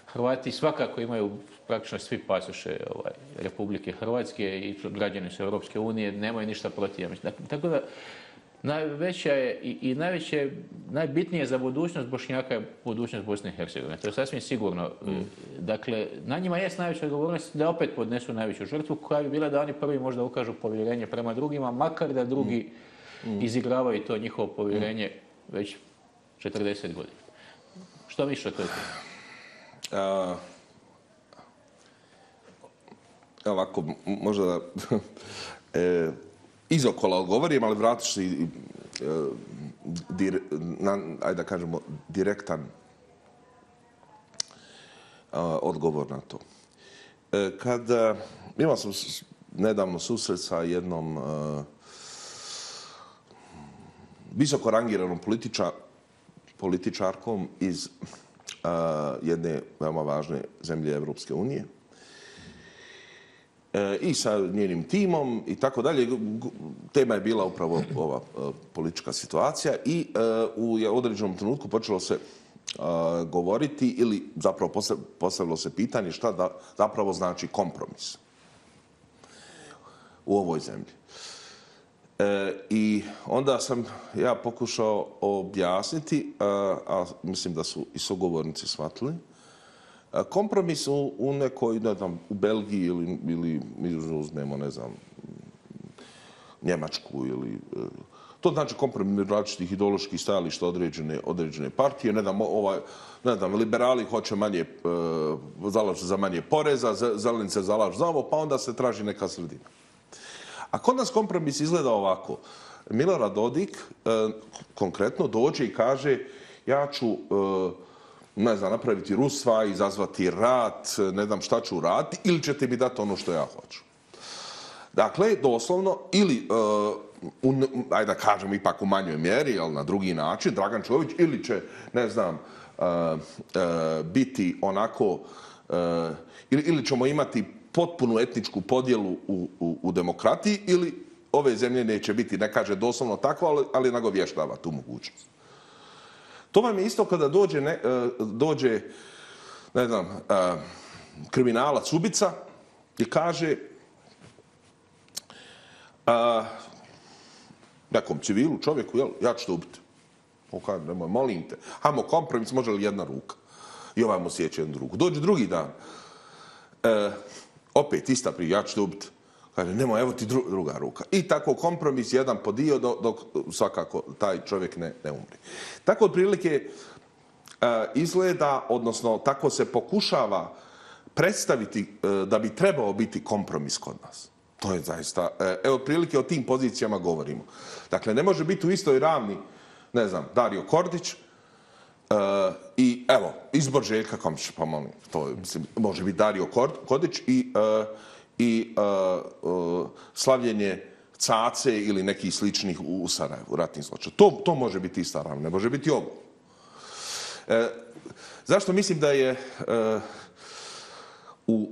Hrvati svakako imaju praktično svi pasoše ovaj, Republike Hrvatske i građani su Europske unije, nemaju ništa protiv. Dakle, tako da najveća je i, i najveće, najbitnije za budućnost Bošnjaka je budućnost Bosne i Hercegovine. To je sasvim sigurno. Mm. Dakle, na njima je najveća odgovornost da opet podnesu najveću žrtvu koja bi bila da oni prvi možda ukažu povjerenje prema drugima, makar da drugi mm. izigravaju to njihovo povjerenje mm. već četrdeset godina. Što misliš o toj temi? Uh, ovako, možda da e, izokola odgovorim, ali vratit ću se i, dir, na, ajde da kažemo, direktan a, odgovor na to. E, kad a, imao sam nedavno susret sa jednom a, visoko rangiranom političa, političarkom iz a, jedne veoma važne zemlje Evropske unije, i sa njenim timom i tako dalje. Tema je bila upravo ova politička situacija i u određenom trenutku počelo se govoriti ili zapravo postavilo se pitanje šta da zapravo znači kompromis u ovoj zemlji. I onda sam ja pokušao objasniti, a mislim da su i sugovornici shvatili, kompromis u, u nekoj, ne znam, u Belgiji ili, ili mi uzmemo, ne znam, Njemačku ili... To znači kompromis različitih ideoloških stajališta određene, određene partije. Ne znam, ovaj, ne znam, liberali hoće manje, zalažu za manje poreza, zeleni se zalažu za ovo, pa onda se traži neka sredina. A kod nas kompromis izgleda ovako. Milorad Dodik konkretno dođe i kaže ja ću... ne znam, napraviti rusva, izazvati rat, ne znam šta ću raditi, ili ćete mi dati ono što ja hoću. Dakle, doslovno, ili, uh, un, ajde da kažem, ipak u manjoj mjeri, ali na drugi način, Dragan Čović, ili će, ne znam, uh, uh, biti onako, uh, ili, ili ćemo imati potpunu etničku podjelu u, u, u demokratiji, ili ove zemlje neće biti, ne kaže doslovno tako, ali, ali nagovještava tu mogućnost. To vam je isto kada dođe, ne, dođe ne znam, kriminalac, ubica i kaže a, nekom civilu, čovjeku, jel, ja ću te ubiti. On kaže, nemoj, molim te. Hajmo kompromis, može li jedna ruka? I ovaj mu sjeće jednu ruku. Dođe drugi dan. E, opet, ista prije, ja ću te ubiti. Kaže, nemoj, evo ti dru, druga ruka. I tako kompromis jedan po dio dok, dok svakako taj čovjek ne, ne umri. Tako otprilike uh, izgleda, odnosno tako se pokušava predstaviti uh, da bi trebao biti kompromis kod nas. To je zaista, uh, evo otprilike o tim pozicijama govorimo. Dakle, ne može biti u istoj ravni, ne znam, Dario Kordić uh, i evo, izbor Željka Komšića, pa molim, to je, mislim, može biti Dario Kordić i uh, i uh, uh, slavljenje Cace ili nekih sličnih u Sarajevu, ratnih zločina. To, to može biti ista ravna, ne može biti ovo. E, zašto mislim da je, uh, u,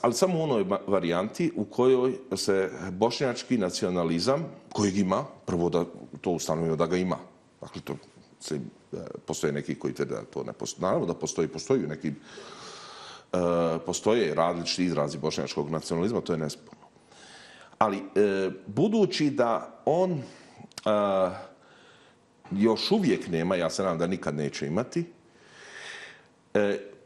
ali samo u onoj varijanti u kojoj se bošnjački nacionalizam, kojeg ima, prvo da to ustanovimo da ga ima. Dakle, to se, postoje neki koji tvrde da to ne postoji. Naravno da postoji, postoji neki Uh, postoje različiti izrazi bošnjačkog nacionalizma, to je nesporno. Ali, uh, budući da on uh, još uvijek nema, ja se nadam da nikad neće imati, uh,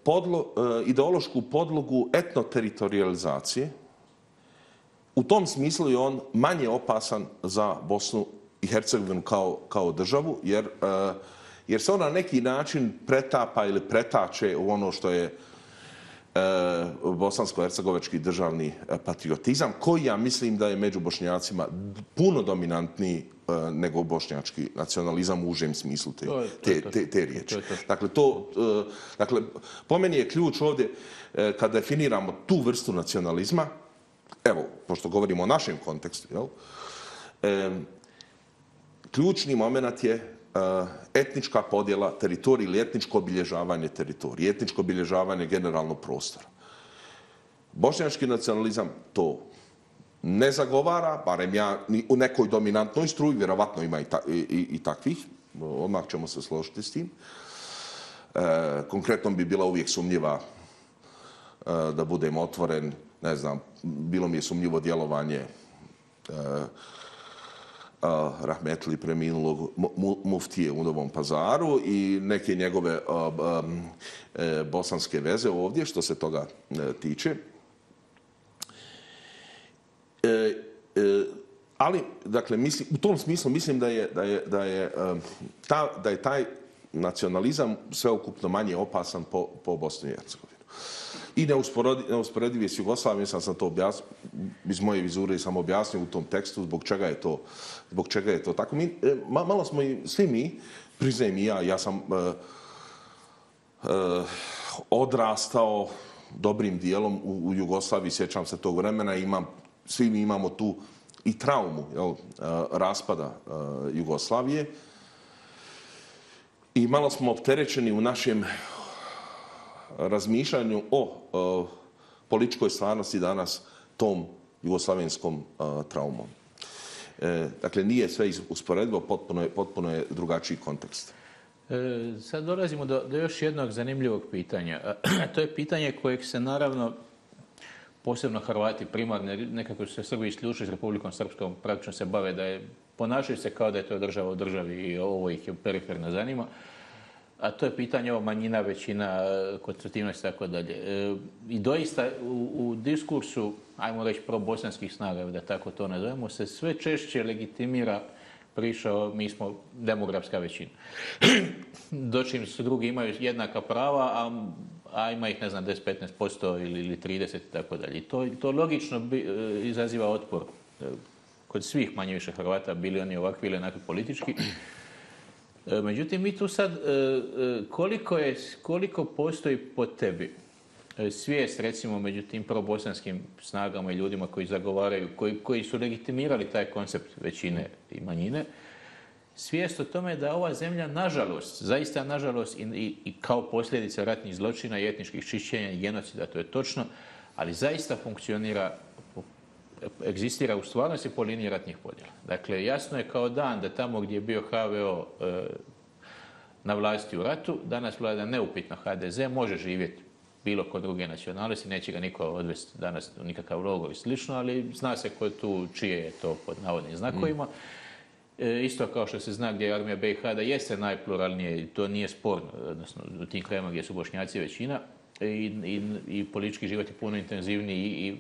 podlo, uh, ideološku podlogu etnoteritorializacije, u tom smislu je on manje opasan za Bosnu i Hercegovinu kao, kao državu, jer, uh, jer se ona na neki način pretapa ili pretače u ono što je bosansko-hercegovački državni patriotizam, koji ja mislim da je među Bošnjacima puno dominantniji nego bošnjački nacionalizam u užem smislu te, te, te, te riječi. Dakle, to, dakle, po meni je ključ ovdje kad definiramo tu vrstu nacionalizma, evo, pošto govorimo o našem kontekstu, jel, E, ključni moment je etnička podjela teritorija ili etničko obilježavanje teritorije, etničko obilježavanje generalnog prostora. Bošnjački nacionalizam to ne zagovara, barem ja u nekoj dominantnoj struji, vjerovatno ima i, ta, i, i, i takvih, odmah ćemo se složiti s tim. E, konkretno bi bila uvijek sumnjiva, e, da budem otvoren, ne znam, bilo mi je sumnjivo djelovanje e, Uh, rahmetli preminulog muftije u Novom Pazaru i neke njegove uh, um, e, bosanske veze ovdje, što se toga e, tiče. E, e, ali, dakle, mislim, u tom smislu mislim da je, da je, da je, um, ta, da je taj nacionalizam sveukupno manje opasan po, po Bosni i Hercegovini. I neusporedivi s Jugoslavijom, sam sam to objasnio, iz moje vizure sam objasnio u tom tekstu zbog čega je to, zbog čega je to tako. Mi, e, malo smo i svi mi, priznajem i ja, ja sam e, e, odrastao dobrim dijelom u, u Jugoslaviji, sjećam se tog vremena, imam, svi mi imamo tu i traumu, jel, e, raspada e, Jugoslavije. I malo smo opterećeni u našem razmišljanju o, o političkoj stvarnosti danas tom jugoslavenskom a, traumom. E, dakle, nije sve usporedivo, potpuno je, potpuno je drugačiji kontekst. E, sad dolazimo do, do još jednog zanimljivog pitanja. To je pitanje kojeg se naravno posebno Hrvati primarno, nekako su se Srbi isključili s Republikom Srpskom, praktično se bave da je, ponašaju se kao da je to država u državi i ovo ih je periferno zanima. A to je pitanje o manjina, većina, konstitutivnost i tako dalje. I doista u, u diskursu, ajmo reći, pro-bosanskih snaga, da tako to nazovemo, se sve češće legitimira priča mi smo demografska većina. Dočim su drugi imaju jednaka prava, a, a ima ih, ne znam, deset do petnaest posto ili, ili trideset i tako dalje. I to, to logično bi, izaziva otpor kod svih manje više Hrvata, bili oni ovakvi ili onakvi politički. Međutim, mi tu sad, koliko, je, koliko postoji po tebi svijest, recimo, među tim probosanskim snagama i ljudima koji zagovaraju, koji, koji su legitimirali taj koncept većine i manjine, svijest o tome da ova zemlja, nažalost, zaista nažalost, i, i, i kao posljedica ratnih zločina i etničkih čišćenja i genocida, to je točno, ali zaista funkcionira, egzistira u stvarnosti po liniji ratnih podjela. Dakle, jasno je kao dan da tamo gdje je bio ha ve o e, na vlasti u ratu, danas vlada neupitno ha de ze, može živjeti bilo kod druge nacionalnosti, neće ga niko odvesti danas u nikakav logor i slično, ali zna se ko tu, čije je to pod navodnim znakovima. E, isto kao što se zna gdje je armija be i ha da jeste najpluralnije, i to nije sporno, odnosno u tim krajima gdje su Bošnjaci većina, I, i, i politički život je puno intenzivniji i, i,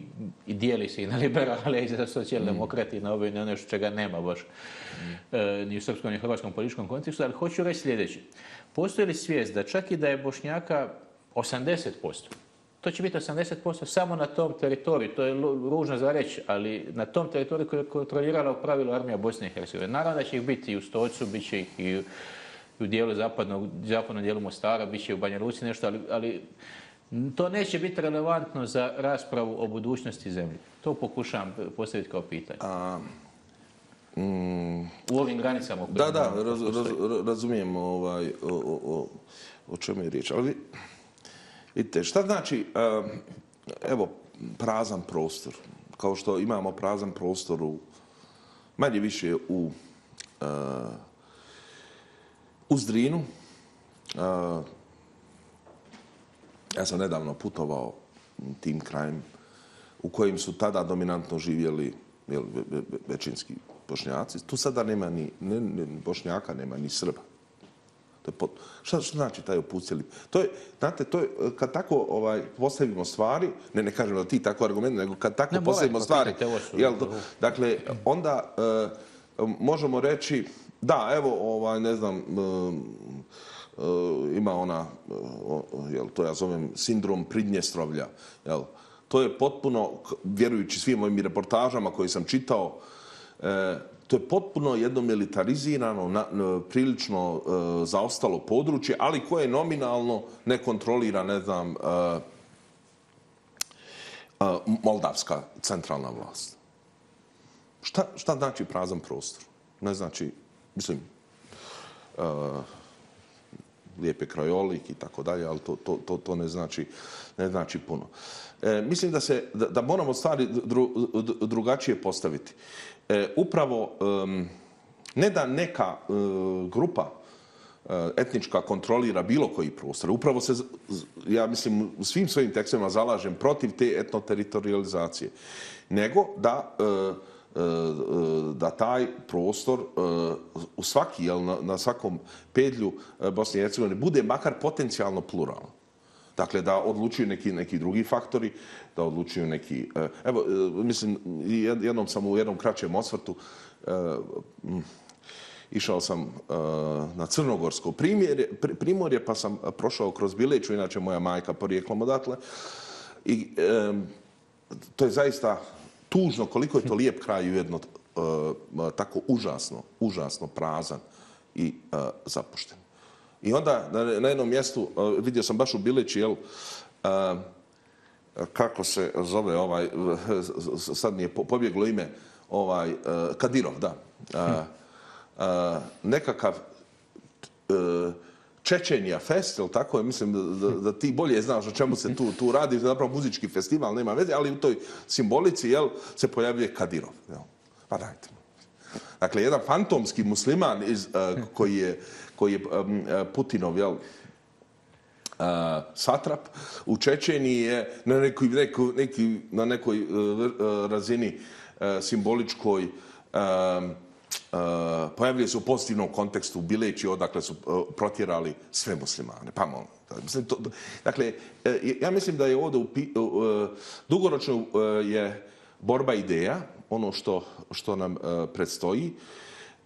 i dijeli se i na liberale i za socijaldemokrati, mm. na ove i na ono čega nema baš mm. e, ni u srpskom ni u hrvatskom političkom kontekstu, ali hoću reći sljedeće. Postoji li svijest da čak i da je Bošnjaka osamdeset posto, to će biti osamdeset posto samo na tom teritoriju, to je ružno za reći, ali na tom teritoriju koju je kontrolirala u pravilu armija Bosne i Hercegovine. Naravno da će ih biti i u Stocu, bit će ih i u, u dijelu zapadnog, zapadnom dijelu Mostara, bit će u Banja Luci nešto, ali, ali to neće biti relevantno za raspravu o budućnosti zemlje. To pokušavam postaviti kao pitanje. A, mm, u ovim granicama. Da, da, raz, raz, razumijem ovaj, o, o, o, o čemu je riječ. Ali vidite, šta znači, evo, prazan prostor. Kao što imamo prazan prostor u, manje više u, u Zdrinu. Ja sam nedavno putovao tim krajem u kojim su tada dominantno živjeli jel, većinski Bošnjaci. Tu sada nema ni ne, ne, Bošnjaka, nema ni Srba. To je pot... šta, šta znači taj opucjeli? To je, znate, to je, kad tako ovaj, postavimo stvari, ne, ne kažem da ti tako argument, nego kad tako ne, postavimo stvari, jel, dakle, onda uh, možemo reći, da, evo, ovaj, ne znam, uh, Uh, ima ona, uh, jel, to ja zovem sindrom Pridnjestrovlja. Jel. To je potpuno, vjerujući svim mojim reportažama koje sam čitao, uh, to je potpuno jedno militarizirano, na, uh, prilično uh, zaostalo područje, ali koje nominalno ne kontrolira, ne znam, uh, uh, moldavska centralna vlast. šta, šta znači prazan prostor? Ne znači, mislim, uh, lijepe krajolik i tako dalje, ali to, to, to, to ne, znači, ne znači puno. E, mislim da, se, da, da moramo stvari dru, drugačije postaviti. E, upravo, um, ne da neka uh, grupa etnička kontrolira bilo koji prostor. Upravo se, ja mislim, u svim svojim tekstovima zalažem protiv te etnoteritorializacije. Nego da, da taj prostor u svaki, jel, na, na svakom pedlju Bosne i Hercegovine bude makar potencijalno pluralan. Dakle, da odlučuju neki, neki drugi faktori, da odlučuju neki... Evo, mislim, jednom sam u jednom kraćem osvrtu išao sam uh, na Crnogorsko primjerje, primorje, pa sam prošao kroz Bileću, inače moja majka porijeklom odatle. I um, to je zaista tužno koliko je to lijep kraj ujedno uh, tako užasno, užasno prazan i uh, zapušten. I onda na, na jednom mjestu, uh, vidio sam baš u Bileći, jel, uh, kako se zove ovaj, sad mi je pobjeglo ime, ovaj, uh, Kadirov, da. Uh, Uh, nekakav uh, Čečenija fest, ili tako je, mislim da, da, da ti bolje znaš o čemu se tu, tu radi, zapravo muzički festival, nema veze, ali u toj simbolici, jel, se pojavljuje Kadirov. Jel? Pa dajte. Dakle, jedan fantomski musliman iz, uh, koji je, koji je um, Putinov, jel, uh, satrap u Čečeniji je na nekoj, neko, neki, na nekoj uh, razini uh, simboličkoj um, Uh, pojavljaju se u pozitivnom kontekstu u Bileći, odakle su uh, protjerali sve muslimane. Pa molim. Mislim, to, dakle, uh, ja mislim da je ovdje u, uh, dugoročno uh, je borba ideja, ono što, što nam uh, predstoji.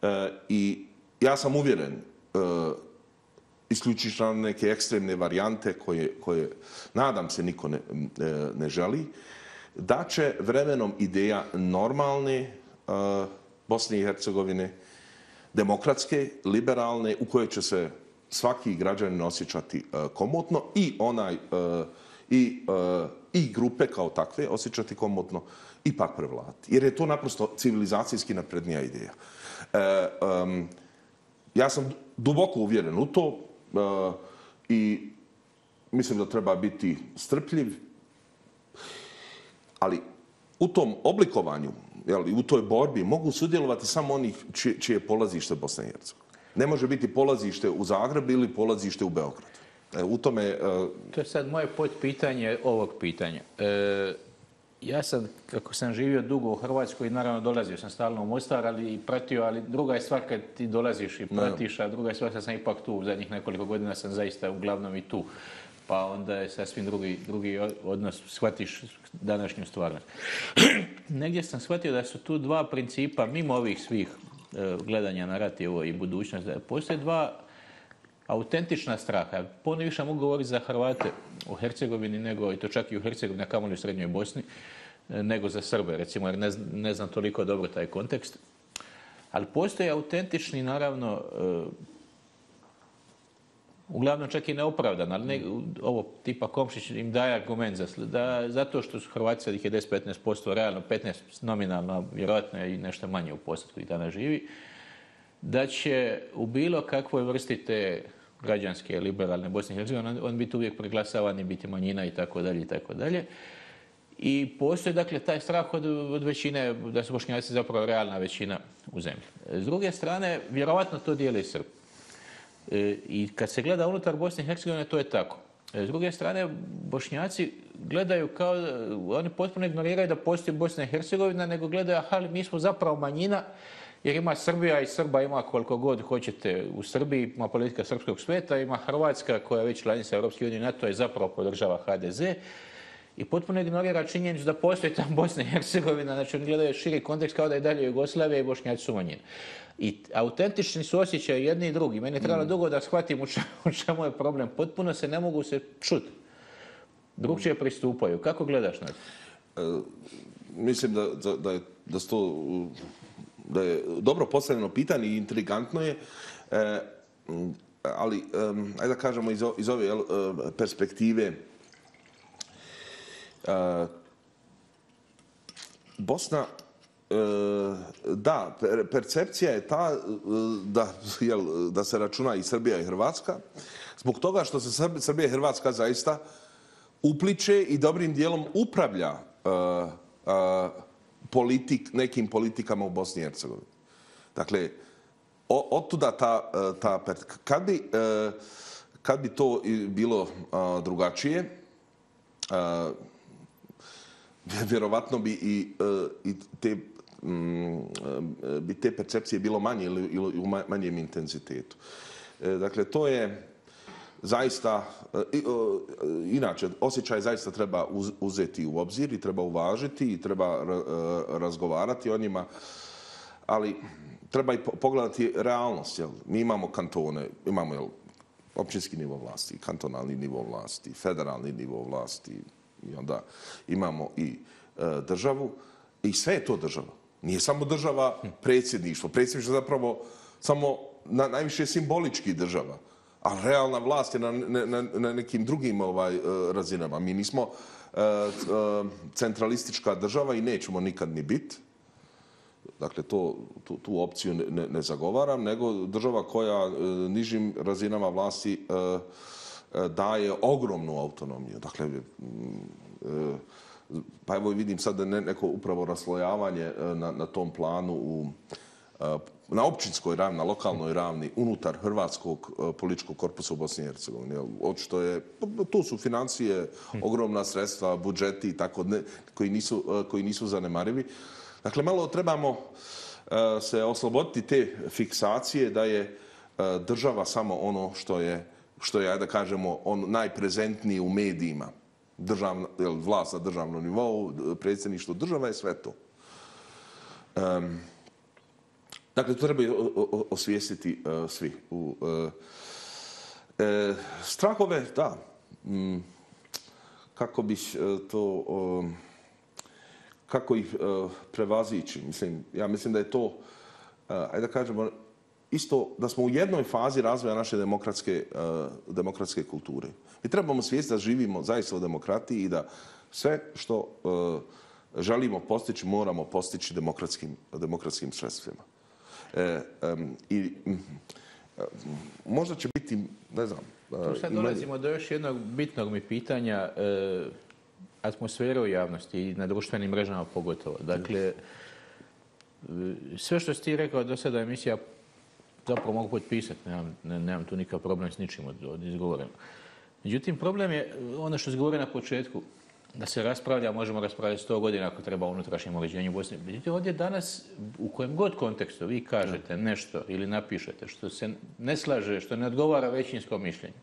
Uh, I ja sam uvjeren, uh, isključiš na neke ekstremne varijante koje, koje nadam se niko ne, ne želi, da će vremenom ideja normalne uh, Bosne i Hercegovine, demokratske, liberalne, u kojoj će se svaki građanin osjećati uh, komotno i onaj uh, i, uh, i grupe kao takve osjećati komotno ipak prevladati. Jer je to naprosto civilizacijski naprednija ideja. Uh, um, ja sam duboko uvjeren u to uh, i mislim da treba biti strpljiv, ali u tom oblikovanju, jel, u toj borbi mogu sudjelovati samo onih čije, čije je polazište Bosna i Hercegovina. Ne može biti polazište u Zagrebu ili polazište u Beogradu. E, u tome... E... To je sad moje podpitanje ovog pitanja. E, ja sam, kako sam živio dugo u Hrvatskoj, naravno dolazio sam stalno u Mostar, ali i pratio, ali druga je stvar kad ti dolaziš i pratiš, a druga je stvar kad sam ipak tu, u zadnjih nekoliko godina sam zaista uglavnom i tu. Pa onda je sasvim drugi, drugi odnos, shvatiš današnju stvarnost. Negdje sam shvatio da su tu dva principa, mimo ovih svih e, gledanja na rat i ovo i budućnost, da postoje dva autentična straha. Puno više mogu govoriti za Hrvate u Hercegovini, nego, i to čak i u Hercegovini, a kamoli u Srednjoj Bosni, nego za Srbe, recimo, jer ne, ne znam toliko dobro taj kontekst. Ali postoje autentični, naravno, e, uglavnom čak i neopravdan, ali ne, ovo tipa Komšić im daje argument za, da, zato što su Hrvati sad ih je deset do petnaest posto, realno petnaest nominalno, vjerojatno i nešto manje u postotku i danas živi, da će u bilo kakvoj vrsti te građanske, liberalne Bosne i Hercegovine, on biti uvijek preglasavan i biti manjina i tako dalje i tako dalje. I postoji dakle taj strah od, od većine, da su Bošnjaci zapravo realna većina u zemlji. S druge strane, vjerovatno to dijeli Srbi. I kad se gleda unutar Bosne i Hercegovine, to je tako. S druge strane, Bošnjaci gledaju kao, oni potpuno ignoriraju da postoji Bosna i Hercegovina, nego gledaju, aha, mi smo zapravo manjina, jer ima Srbija i Srba ima koliko god hoćete u Srbiji, ima politika srpskog sveta, ima Hrvatska koja je već članica Europske unije i NATO je zapravo podržava ha de ze. I potpuno ignorira činjenicu da postoji tam Bosna i Hercegovina, znači oni gledaju širi kontekst kao da je dalje Jugoslavija i Bošnjaci su manjina. I autentični su osjećaju jedni i drugi. Meni je trebalo mm. dugo da shvatim u čemu je problem. Potpuno se ne mogu se čuti. Drugčije pristupaju. Kako gledaš na to? E, mislim da, da, da, je, da, sto, da je dobro postavljeno pitanje i intrigantno je. E, ali, e, ajde da kažemo iz, iz ove jel, perspektive, e, Bosna Da, percepcija je ta da, jel, da se računa i Srbija i Hrvatska, zbog toga što se Srbija i Hrvatska zaista upliče i dobrim dijelom upravlja uh, uh, politik, nekim politikama u Bosni i Hercegovini. Dakle, otuda ta, ta kad bi, uh, kad bi to bilo uh, drugačije, uh, vjerovatno bi i, uh, i te bi te percepcije bilo manje ili u manjem intenzitetu. Dakle, to je zaista, inače, osjećaj zaista treba uzeti u obzir i treba uvažiti i treba razgovarati o njima, ali treba i pogledati realnost. Jel? Mi imamo kantone, imamo jel, općinski nivo vlasti, kantonalni nivo vlasti, federalni nivo vlasti i onda imamo i državu i sve je to država. Nije samo država predsjedništvo. Predsjedništvo je zapravo samo na, najviše simbolički država. A realna vlast je na, na, na nekim drugim ovaj, razinama. Mi nismo uh, uh, centralistička država i nećemo nikad ni biti. Dakle, to, tu, tu opciju ne, ne zagovaram, nego država koja uh, nižim razinama vlasti uh, uh, daje ogromnu autonomiju. Dakle, uh, pa evo vidim sad neko upravo raslojavanje na, na tom planu u, na općinskoj ravni, na lokalnoj ravni, unutar hrvatskog političkog korpusa u Bosni i Hercegovini. Očito je, tu su financije, ogromna sredstva, budžeti tako, ne, koji, nisu, koji nisu zanemarivi. Dakle, malo trebamo se osloboditi te fiksacije da je država samo ono što je, što je, da kažemo, on najprezentniji u medijima. Državna, vlast na državnom nivou, predsjedništvo država je sve to. Um, dakle, to treba osvijestiti uh, svi. U, uh, uh, strahove, da. Um, kako bi uh, to... Um, kako ih uh, prevazići? Mislim, ja mislim da je to, uh, ajde da kažemo, isto da smo u jednoj fazi razvoja naše demokratske, uh, demokratske kulture. Mi trebamo svijesti da živimo zaista u demokratiji i da sve što uh, želimo postići, moramo postići demokratskim, demokratskim sredstvima. E, um, i, um, možda će biti, ne znam... Uh, tu sad dolazimo ima... do još jednog bitnog mi pitanja, uh, atmosfere u javnosti i na društvenim mrežama pogotovo. Dakle, sve što si ti rekao do sada emisija zapravo mogu potpisati, nemam, ne, nemam tu nikakav problem s ničim od, od izgovoreno. Međutim, problem je ono što se govori na početku, da se raspravlja, možemo raspravljati sto godina ako treba o unutrašnjem uređenju Bosne. Međutim, ovdje danas, u kojem god kontekstu vi kažete nešto ili napišete što se ne slaže, što ne odgovara većinskom mišljenju,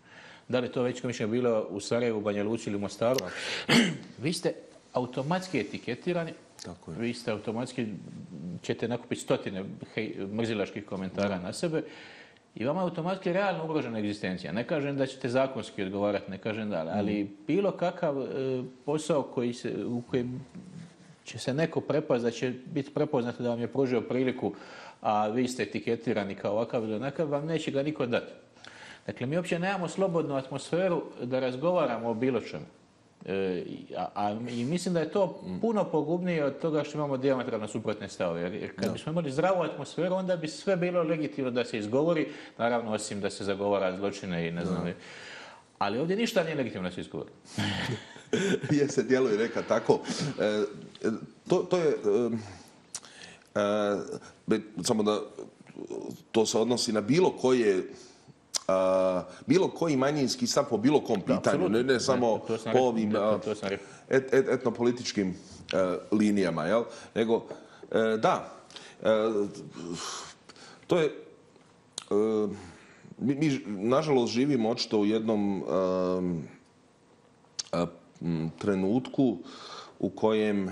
da li to većinsko mišljenje bilo u Sarajevu, Banja Luci ili Mostaru, vi ste automatski etiketirani, tako je. Vi ste automatski, ćete nakupiti stotine hej, mrzilaških komentara na sebe i vama je automatski realno ugrožena egzistencija. Ne kažem da ćete zakonski odgovarati, ne kažem da, ali mm. bilo kakav e, posao koji se, u kojem će se neko prepast, da će biti prepoznato da vam je pružio priliku, a vi ste etiketirani kao ovakav ili onakav, vam neće ga niko dati. Dakle, mi uopće nemamo slobodnu atmosferu da razgovaramo o bilo čemu. E, a, a, I mislim da je to puno pogubnije od toga što imamo dijametralno suprotne stavove. Jer, jer kad no. bismo imali zdravu atmosferu, onda bi sve bilo legitimno da se izgovori, naravno osim da se zagovara zločine i ne znam. No. Ali ovdje ništa nije legitimno da se izgovori. Je se djeluje neka tako. E, to, to je... E, e, samo da to se odnosi na bilo koje... Uh, bilo koji manjinski stav po bilo kom pitanju, ne, ne samo ne, po ovim uh, et, et, etnopolitičkim uh, linijama, jel? Nego, uh, da, uh, to je, uh, mi, mi nažalost živimo očito u jednom uh, uh, trenutku u kojem, uh,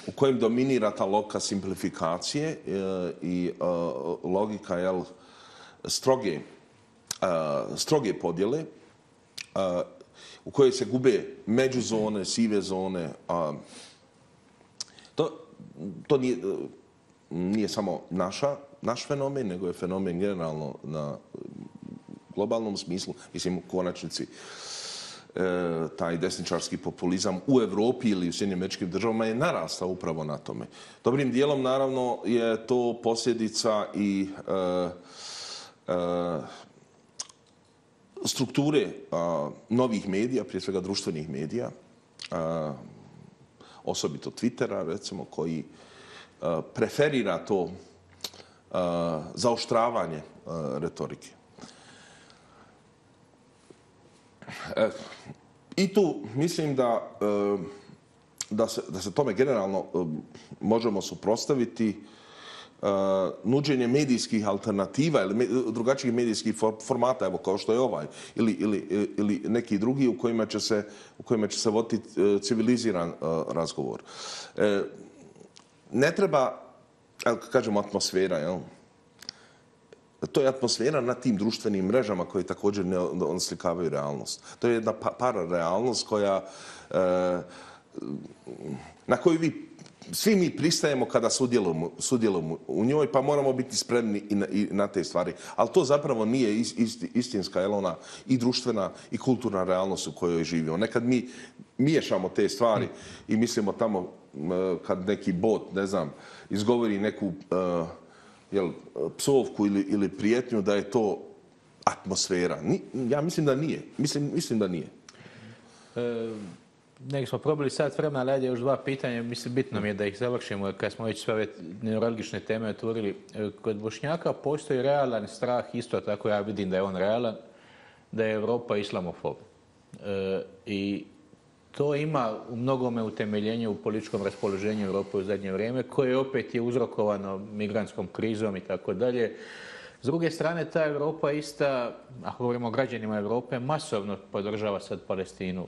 u kojem dominira ta logika simplifikacije uh, i uh, logika, jel, stroge, uh, stroge podjele uh, u kojoj se gube međuzone, sive zone. Uh, to to nije, uh, nije samo naša, naš fenomen, nego je fenomen generalno na globalnom smislu, mislim u konačnici taj desničarski populizam u Evropi ili u Sjedinjenim Američkim Državama je narastao upravo na tome. Dobrim dijelom, naravno, je to posljedica i e, e, strukture a, novih medija, prije svega društvenih medija, a, osobito Twittera, recimo, koji a, preferira to a, zaoštravanje a, retorike. E, I tu mislim da, e, da, se, da se tome generalno e, možemo suprotstaviti Uh, nuđenje medijskih alternativa ili me, drugačijih medijskih for, formata, evo kao što je ovaj, ili, ili, ili neki drugi u kojima će se, u kojima će se voditi uh, civiliziran uh, razgovor. Uh, ne treba, kažemo, atmosfera, jel? To je atmosfera na tim društvenim mrežama koje također ne oslikavaju realnost. To je jedna pa, pararealnost koja, uh, na koju vi svi mi pristajemo kada sudjelujemo, sudjelujemo u njoj, pa moramo biti spremni i na, i na te stvari. Ali to zapravo nije ist, ist, istinska, jel ona, i društvena i kulturna realnost u kojoj živimo. Nekad mi miješamo te stvari i mislimo tamo kad neki bot, ne znam, izgovori neku uh, jel, psovku ili, ili prijetnju, da je to atmosfera. Ni, ja mislim da nije. Mislim, mislim da nije. E... Nek smo probali sat vremena, ali ajde još dva pitanja. Mislim, bitno mi je da ih završimo kad smo već sve ove neuralgične teme otvorili. Kod Bošnjaka postoji realan strah, isto tako ja vidim da je on realan, da je Evropa islamofob. E, I to ima u mnogome utemeljenje u političkom raspoloženju Europe u zadnje vrijeme, koje opet je uzrokovano migrantskom krizom i tako dalje. S druge strane, ta Europa ista, ako govorimo o građanima Europe, masovno podržava sad Palestinu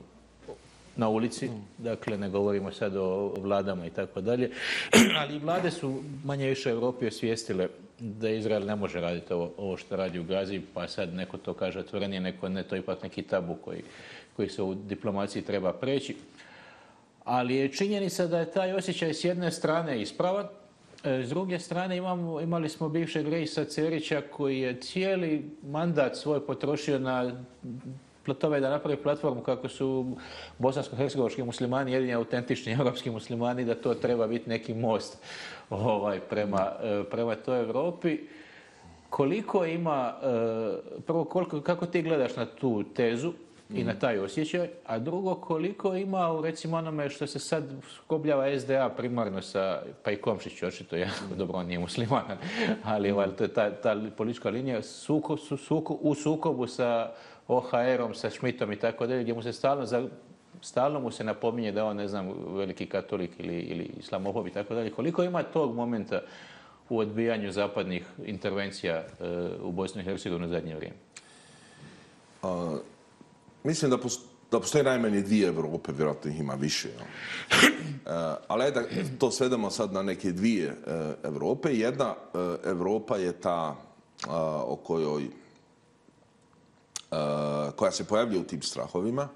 na ulici, dakle ne govorimo sad o vladama i tako dalje, ali vlade su manje više u Europi osvijestile da Izrael ne može raditi ovo, ovo što radi u Gazi, pa sad neko to kaže otvorenije, neko ne, to je ipak neki tabu koji, koji se u diplomaciji treba preći. Ali je činjenica da je taj osjećaj s jedne strane ispravan, s druge strane imamo, imali smo bivšeg Reisa Cerića koji je cijeli mandat svoj potrošio na tome da napravi platformu kako su bosansko-hercegovački muslimani jedini autentični evropski muslimani, da to treba biti neki most ovaj, prema, prema toj Evropi. Koliko ima, prvo, koliko, kako ti gledaš na tu tezu i na taj osjećaj, a drugo, koliko ima u recimo onome što se sad skobljava S D A primarno sa, pa i Komšić očito, ja, dobro, on nije musliman, ali ovaj, to je ta, ta politička linija suko, su, suko, u sukobu sa O H R-om, sa Schmidtom i tako dalje, gdje mu se stalno, za, stalno mu se napominje da on, ne znam, veliki katolik ili, ili islamofob i tako dalje. Koliko ima tog momenta u odbijanju zapadnih intervencija uh, u Bosni i Hercegovini u zadnje vrijeme? Uh, mislim da, posto, da postoje najmanje dvije Evrope, vjerojatno ih ima više. Uh, ali da to svedemo sad na neke dvije uh, Evrope. Jedna uh, Evropa je ta uh, o kojoj Uh, koja se pojavlja u tim strahovima,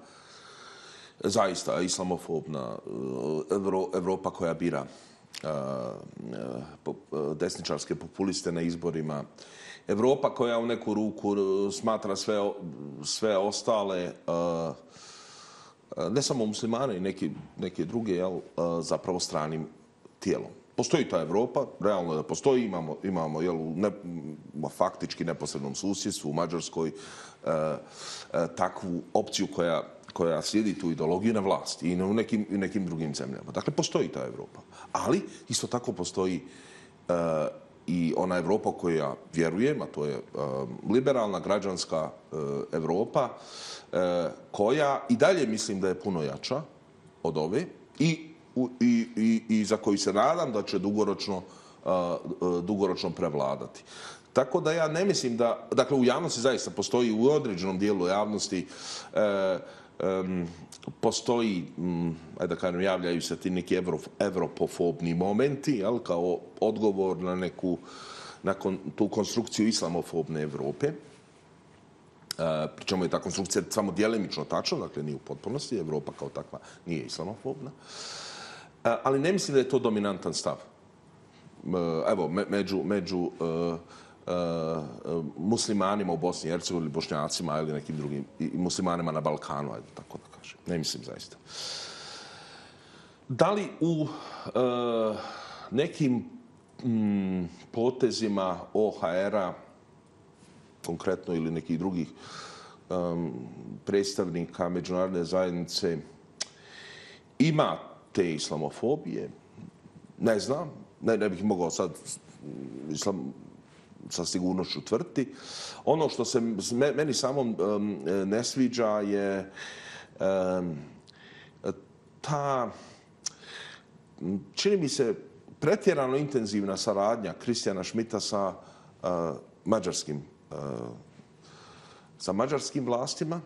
zaista islamofobna Evro, Evropa koja bira uh, uh, desničarske populiste na izborima, Evropa koja u neku ruku smatra sve, sve ostale, uh, ne samo muslimane i neke, neke druge, jel, uh, zapravo stranim tijelom. Postoji ta Evropa, realno da postoji, imamo, imamo jel, u ne, faktički neposrednom susjedstvu u Mađarskoj e, e, takvu opciju koja, koja slijedi tu ideologiju na vlasti i u nekim, u nekim drugim zemljama. Dakle, postoji ta Evropa. Ali isto tako postoji e, i ona Evropa koja vjerujem, a to je e, liberalna, građanska e, Evropa, e, koja i dalje mislim da je puno jača od ove i I, i, i za koji se nadam da će dugoročno, uh, dugoročno prevladati. Tako da ja ne mislim da, dakle u javnosti zaista postoji, u određenom dijelu javnosti uh, um, postoji, um, ajde da kažem, javljaju se ti neki evro, evropofobni momenti, jel, kao odgovor na neku, na kon, tu konstrukciju islamofobne Evrope. Uh, pričemu je ta konstrukcija samo djelimično tačna, dakle nije u potpunosti, Evropa kao takva nije islamofobna. Ali ne mislim da je to dominantan stav. Evo, među, među muslimanima u Bosni i Hercegovini, ili Bošnjacima ili nekim drugim, i muslimanima na Balkanu, ajde tako da kažem. Ne mislim zaista. Da li u uh, nekim mm, potezima O H R-a, konkretno ili nekih drugih um, predstavnika međunarodne zajednice, ima te islamofobije? Ne znam. Ne, ne bih mogao sad islam, sa sigurnošću tvrditi. Ono što se meni samom um, ne sviđa je um, ta, čini mi se, pretjerano intenzivna saradnja Kristijana Schmidta sa uh, mađarskim uh, sa mađarskim vlastima.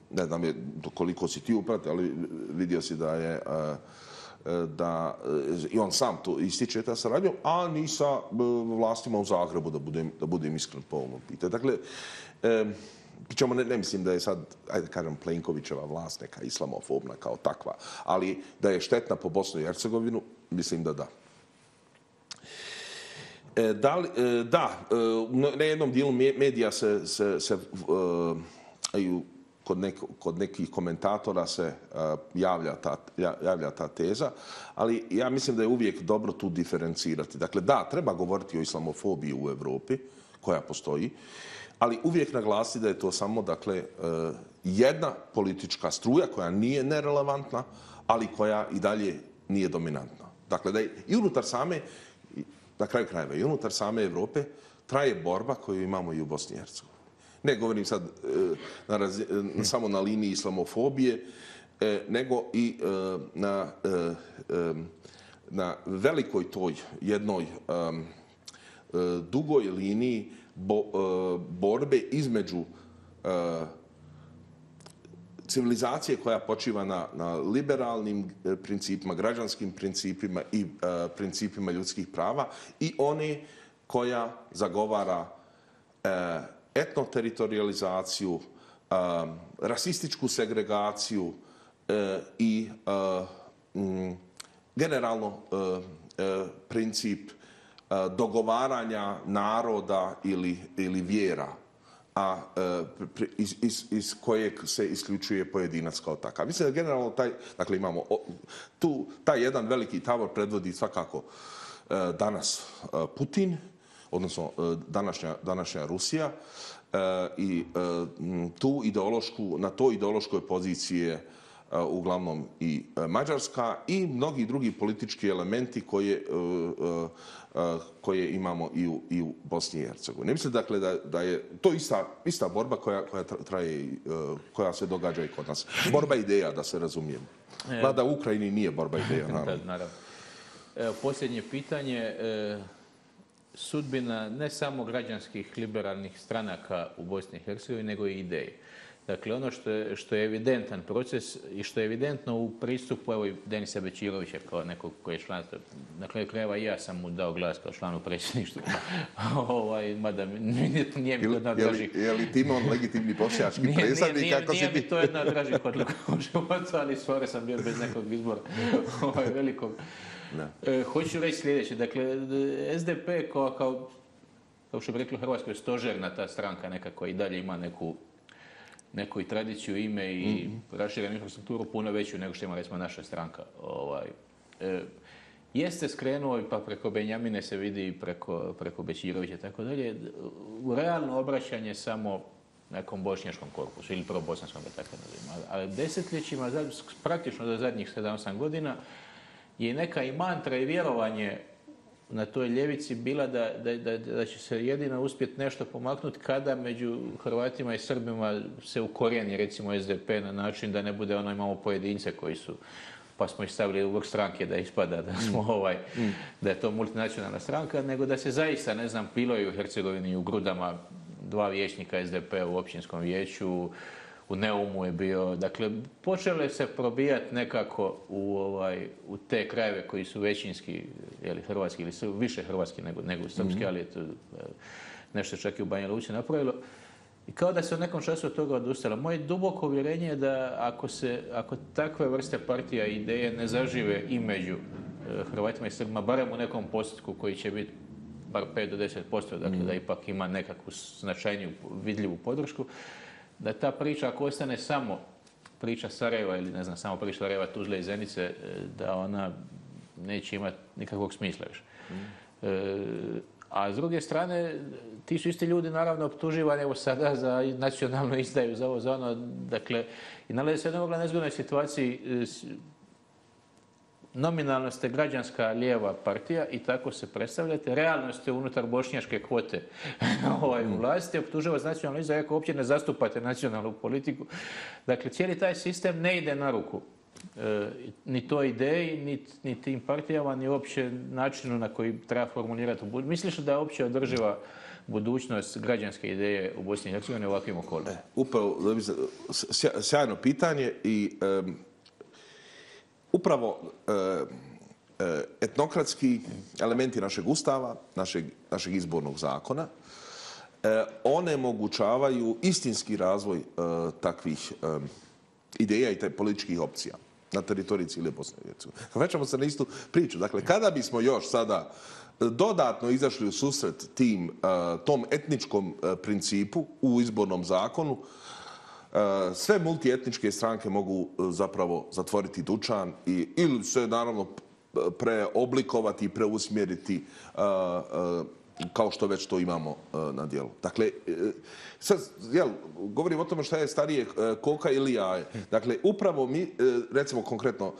Ne znam je koliko si ti upratio, ali vidio si da je uh, da i on sam to ističe ta saradnja, a ni sa vlastima u Zagrebu, da budem, da budem iskren po ovom pitanju. Dakle, e, pričamo, ne, ne mislim da je sad, ajde kažem, Plenkovićeva vlast neka islamofobna kao takva, ali da je štetna po Bosnu i Hercegovinu, mislim da da. E, da, li, e, da e, na jednom dijelu medija se, se, se e, Kod, neko, kod nekih komentatora se uh, javlja, ta, javlja ta teza, ali ja mislim da je uvijek dobro tu diferencirati. Dakle, da, treba govoriti o islamofobiji u Evropi, koja postoji, ali uvijek naglasiti da je to samo dakle, uh, jedna politička struja koja nije nerelevantna, ali koja i dalje nije dominantna. Dakle, da je i unutar same, na kraju krajeva, i unutar same Evrope traje borba koju imamo i u Bosni i Hercegovini. Ne govorim sad na razi, samo na liniji islamofobije, nego i na, na velikoj toj jednoj dugoj liniji bo, borbe između civilizacije koja počiva na, na liberalnim principima, građanskim principima i principima ljudskih prava i one koja zagovara etnoteritorializaciju, uh, rasističku segregaciju uh, i uh, m, generalno uh, uh, princip uh, dogovaranja naroda ili, ili vjera, a uh, iz, iz, iz kojeg se isključuje pojedinac kao takav. Mislim da generalno taj, dakle imamo tu taj jedan veliki tabor predvodi svakako uh, danas uh, Putin, odnosno današnja, današnja Rusija, i tu ideološku, na toj ideološkoj poziciji je uglavnom i Mađarska i mnogi drugi politički elementi koje, koje imamo i u, i u Bosni i Hercegovini. Ne mislim dakle da, da je to ista, ista borba koja, koja traje, koja se događa i kod nas. Borba ideja, da se razumijemo. Mada u Ukrajini nije borba ideja, naravno. naravno. Evo, posljednje pitanje. Sudbina ne samo građanskih liberalnih stranaka u Bosni i Hercegovini, nego i ideje. Dakle, ono što je, što je evidentan proces i što je evidentno u pristupu, evo i Denisa Bećirovića kao nekog koji je član, na kraju krajeva i ja sam mu dao glas kao članu predsjedništva, ovaj, mada nije mi to jedna od dražih... Je li ti imao legitimni bošnjački predstavnik? Nije, nije, nije mi to jedna od dražih odluka u životu, ali svore sam bio bez nekog izbora ovaj, velikog. E, hoću reći sljedeće, dakle, S D P kao, kao, kao što bi rekli u Hrvatskoj, stožerna ta stranka nekako i dalje ima neku, neku i tradiciju, ime i mm-hmm. raširenu infrastrukturu puno veću nego što ima recimo naša stranka. Ovaj, e, jeste skrenuo pa preko Benjamine se vidi i preko, preko Bećirovića i tako dalje, u realno obraćanje samo nekom bošnjačkom korpusu ili probosanskom, da tako nazivimo. Ali desetljećima, praktično do zadnjih sedam osam godina, je neka i mantra i vjerovanje na toj ljevici bila da, da, da, da će se jedino uspjeti nešto pomaknuti kada među Hrvatima i Srbima se ukorijeni recimo S D P na način da ne bude ono imamo pojedince koji su, pa smo ih stavili u vrh stranke da ispada da smo ovaj, mm. da je to multinacionalna stranka, nego da se zaista, ne znam, bilo je u Hercegovini u Grudama dva vijećnika S D P u općinskom vijeću, u Neumu je bio, dakle, počele se probijati nekako u, ovaj, u te krajeve koji su većinski, jeli, hrvatski ili su više hrvatski nego, nego srpski, mm-hmm. ali je to nešto čak i u Banja Luci napravilo. I kao da se u nekom času od toga odustalo. Moje duboko uvjerenje je da ako, se, ako takve vrste partija i ideje ne zažive i među Hrvatima i Srbima, barem u nekom postotku koji će biti bar pet do deset posto, dakle da ipak ima nekakvu značajniju, vidljivu podršku, da ta priča ako ostane samo priča Sarajeva ili ne znam, samo priča Sarajeva, Tuzle i Zenice, da ona neće imati nikakvog smisla više. E, a s druge strane, ti su isti ljudi naravno optuživani evo sada za nacionalnu izdaju, za ovo, za ono, dakle, i nalaze se u jednoj nezgodnoj situaciji. Nominalno ste građanska lijeva partija i tako se predstavljate. Realno ste unutar bošnjačke kvote ovaj, u vlasti. Optužava za nacionalnu izdaju, ako uopće ne zastupate nacionalnu politiku. Dakle, cijeli taj sistem ne ide na ruku. E, ni toj ideji, ni, ni tim partijama, ni uopće načinu na koji treba formulirati. Misliš da je uopće održiva budućnost građanske ideje u Bosni i Hercegovini u ovakvim okolima? Upravo, sjajno pitanje i um, upravo uh, etnokratski elementi našeg ustava, našeg, našeg izbornog zakona, uh, onemogućavaju istinski razvoj uh, takvih um, ideja i političkih opcija na teritoriji cijele Bosne i Hercegovine. Vraćamo se na istu priču. Dakle, kada bismo još sada dodatno izašli u susret tim, tom etničkom principu u izbornom zakonu, sve multietničke stranke mogu zapravo zatvoriti dućan i, ili se naravno preoblikovati i preusmjeriti kao što već to imamo na dijelu. Dakle, sad, jel, govorim o tome šta je starije koka ili jaje. Dakle, upravo mi, recimo konkretno,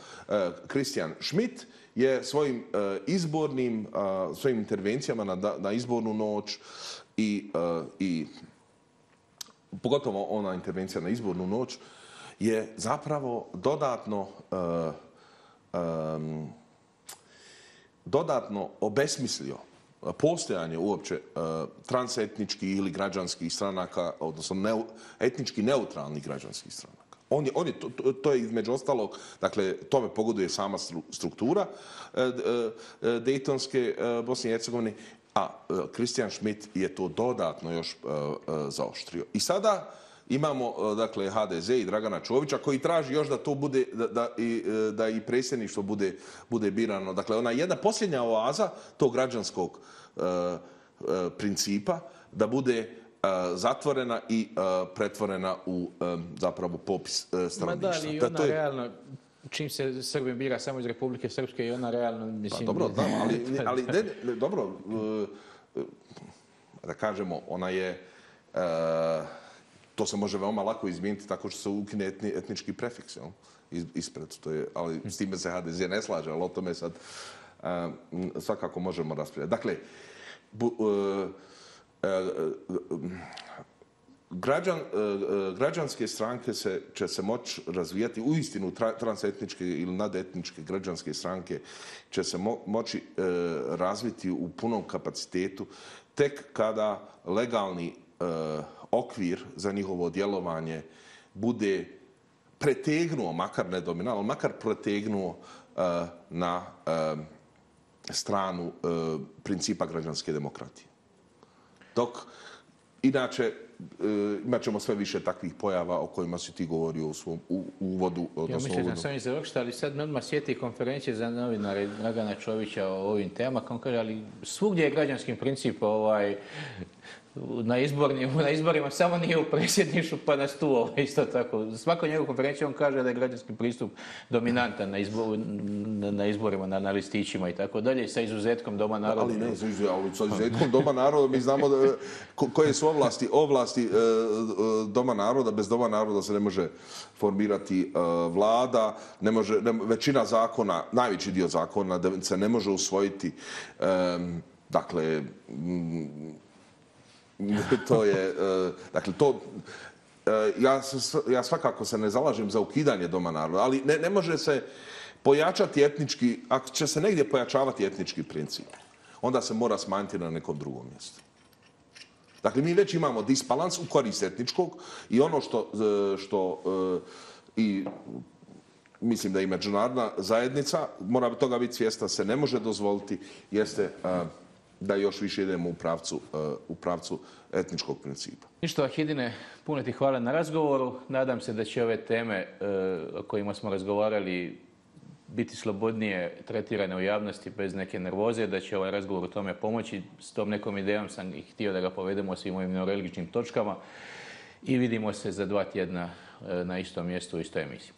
Christian Schmidt je svojim izbornim, svojim intervencijama na, na izbornu noć i, i pogotovo ona intervencija na izbornu noć je zapravo dodatno um, dodatno obesmislio postojanje uopće uh, transetničkih ili građanskih stranaka, odnosno ne, etnički neutralnih građanskih stranaka. On je, on je, to, to je između ostalog, dakle, tome pogoduje sama struktura uh, uh, Dejtonske uh, Bosne i Hercegovine, a uh, Christian Schmidt je to dodatno još uh, uh, zaoštrio. I sada imamo, uh, dakle, H D Z i Dragana Čovića koji traži još da to bude, da, da, i, uh, da i predsjedništvo bude, bude birano. Dakle, ona jedna posljednja oaza tog građanskog uh, uh, principa da bude uh, zatvorena i uh, pretvorena u um, zapravo popis uh, stanovništva. Ma da, ali i ona da, je... realno, čim se Srbim bira samo iz Republike Srpske i ona realno, mislim... Pa dobro, da, ali, ali ne, ne, dobro, uh, da kažemo, ona je... Uh, to se može veoma lako izmijeniti tako što se ukine etni, etnički prefiks, jel? Ispred. To je, ali s time se H D Z ne slaže, ali o tome sad uh, svakako možemo raspravljati. Dakle, bu, uh, uh, građan, uh, građanske stranke se, će se moći razvijati, uistinu tra, transetničke ili nadetničke građanske stranke će se mo, moći uh, razviti u punom kapacitetu tek kada legalni uh, okvir za njihovo djelovanje bude pretegnuo, makar ne dominalno, makar pretegnuo uh, na uh, stranu uh, principa građanske demokratije. Dok, inače, uh, imat ćemo sve više takvih pojava o kojima si ti govorio u svom u, u uvodu. Ja mislim da sam i završiti, ali sad me odmah sjeti konferencije za novinare Dragana Čovića o ovim temama, kao kaže, ali svugdje je građanskim princip ovaj, na, izbornim, na izborima, samo nije u predsjedništvu, pa na stu ovaj, isto tako. Svako njegovu konferenciju on kaže da je građanski pristup dominantan na, izbor, na, na izborima, na, na listićima i tako dalje, sa izuzetkom Doma naroda. Ali ne, ali sa izuzetkom Doma naroda mi znamo da, ko, koje su ovlasti, ovlasti e, Doma naroda. Bez Doma naroda se ne može formirati e, vlada, ne može, ne, većina zakona, najveći dio zakona da se ne može usvojiti. E, dakle, m, to je, dakle, to, ja, ja svakako se ne zalažem za ukidanje Doma naroda, ali ne, ne može se pojačati etnički, ako će se negdje pojačavati etnički princip, onda se mora smanjiti na nekom drugom mjestu. Dakle, mi već imamo disbalans u korist etničkog i ono što, što i mislim da i međunarodna zajednica mora toga biti svjesna, se ne može dozvoliti, jeste da još više idemo u pravcu, u pravcu etničkog principa. Ništa, Vahidine, puno ti hvala na razgovoru. Nadam se da će ove teme o kojima smo razgovarali biti slobodnije tretirane u javnosti bez neke nervoze, da će ovaj razgovor u tome pomoći. S tom nekom idejom sam i htio da ga povedemo svim mojim neuralgičnim točkama i vidimo se za dva tjedna na istom mjestu u istoj emisiji.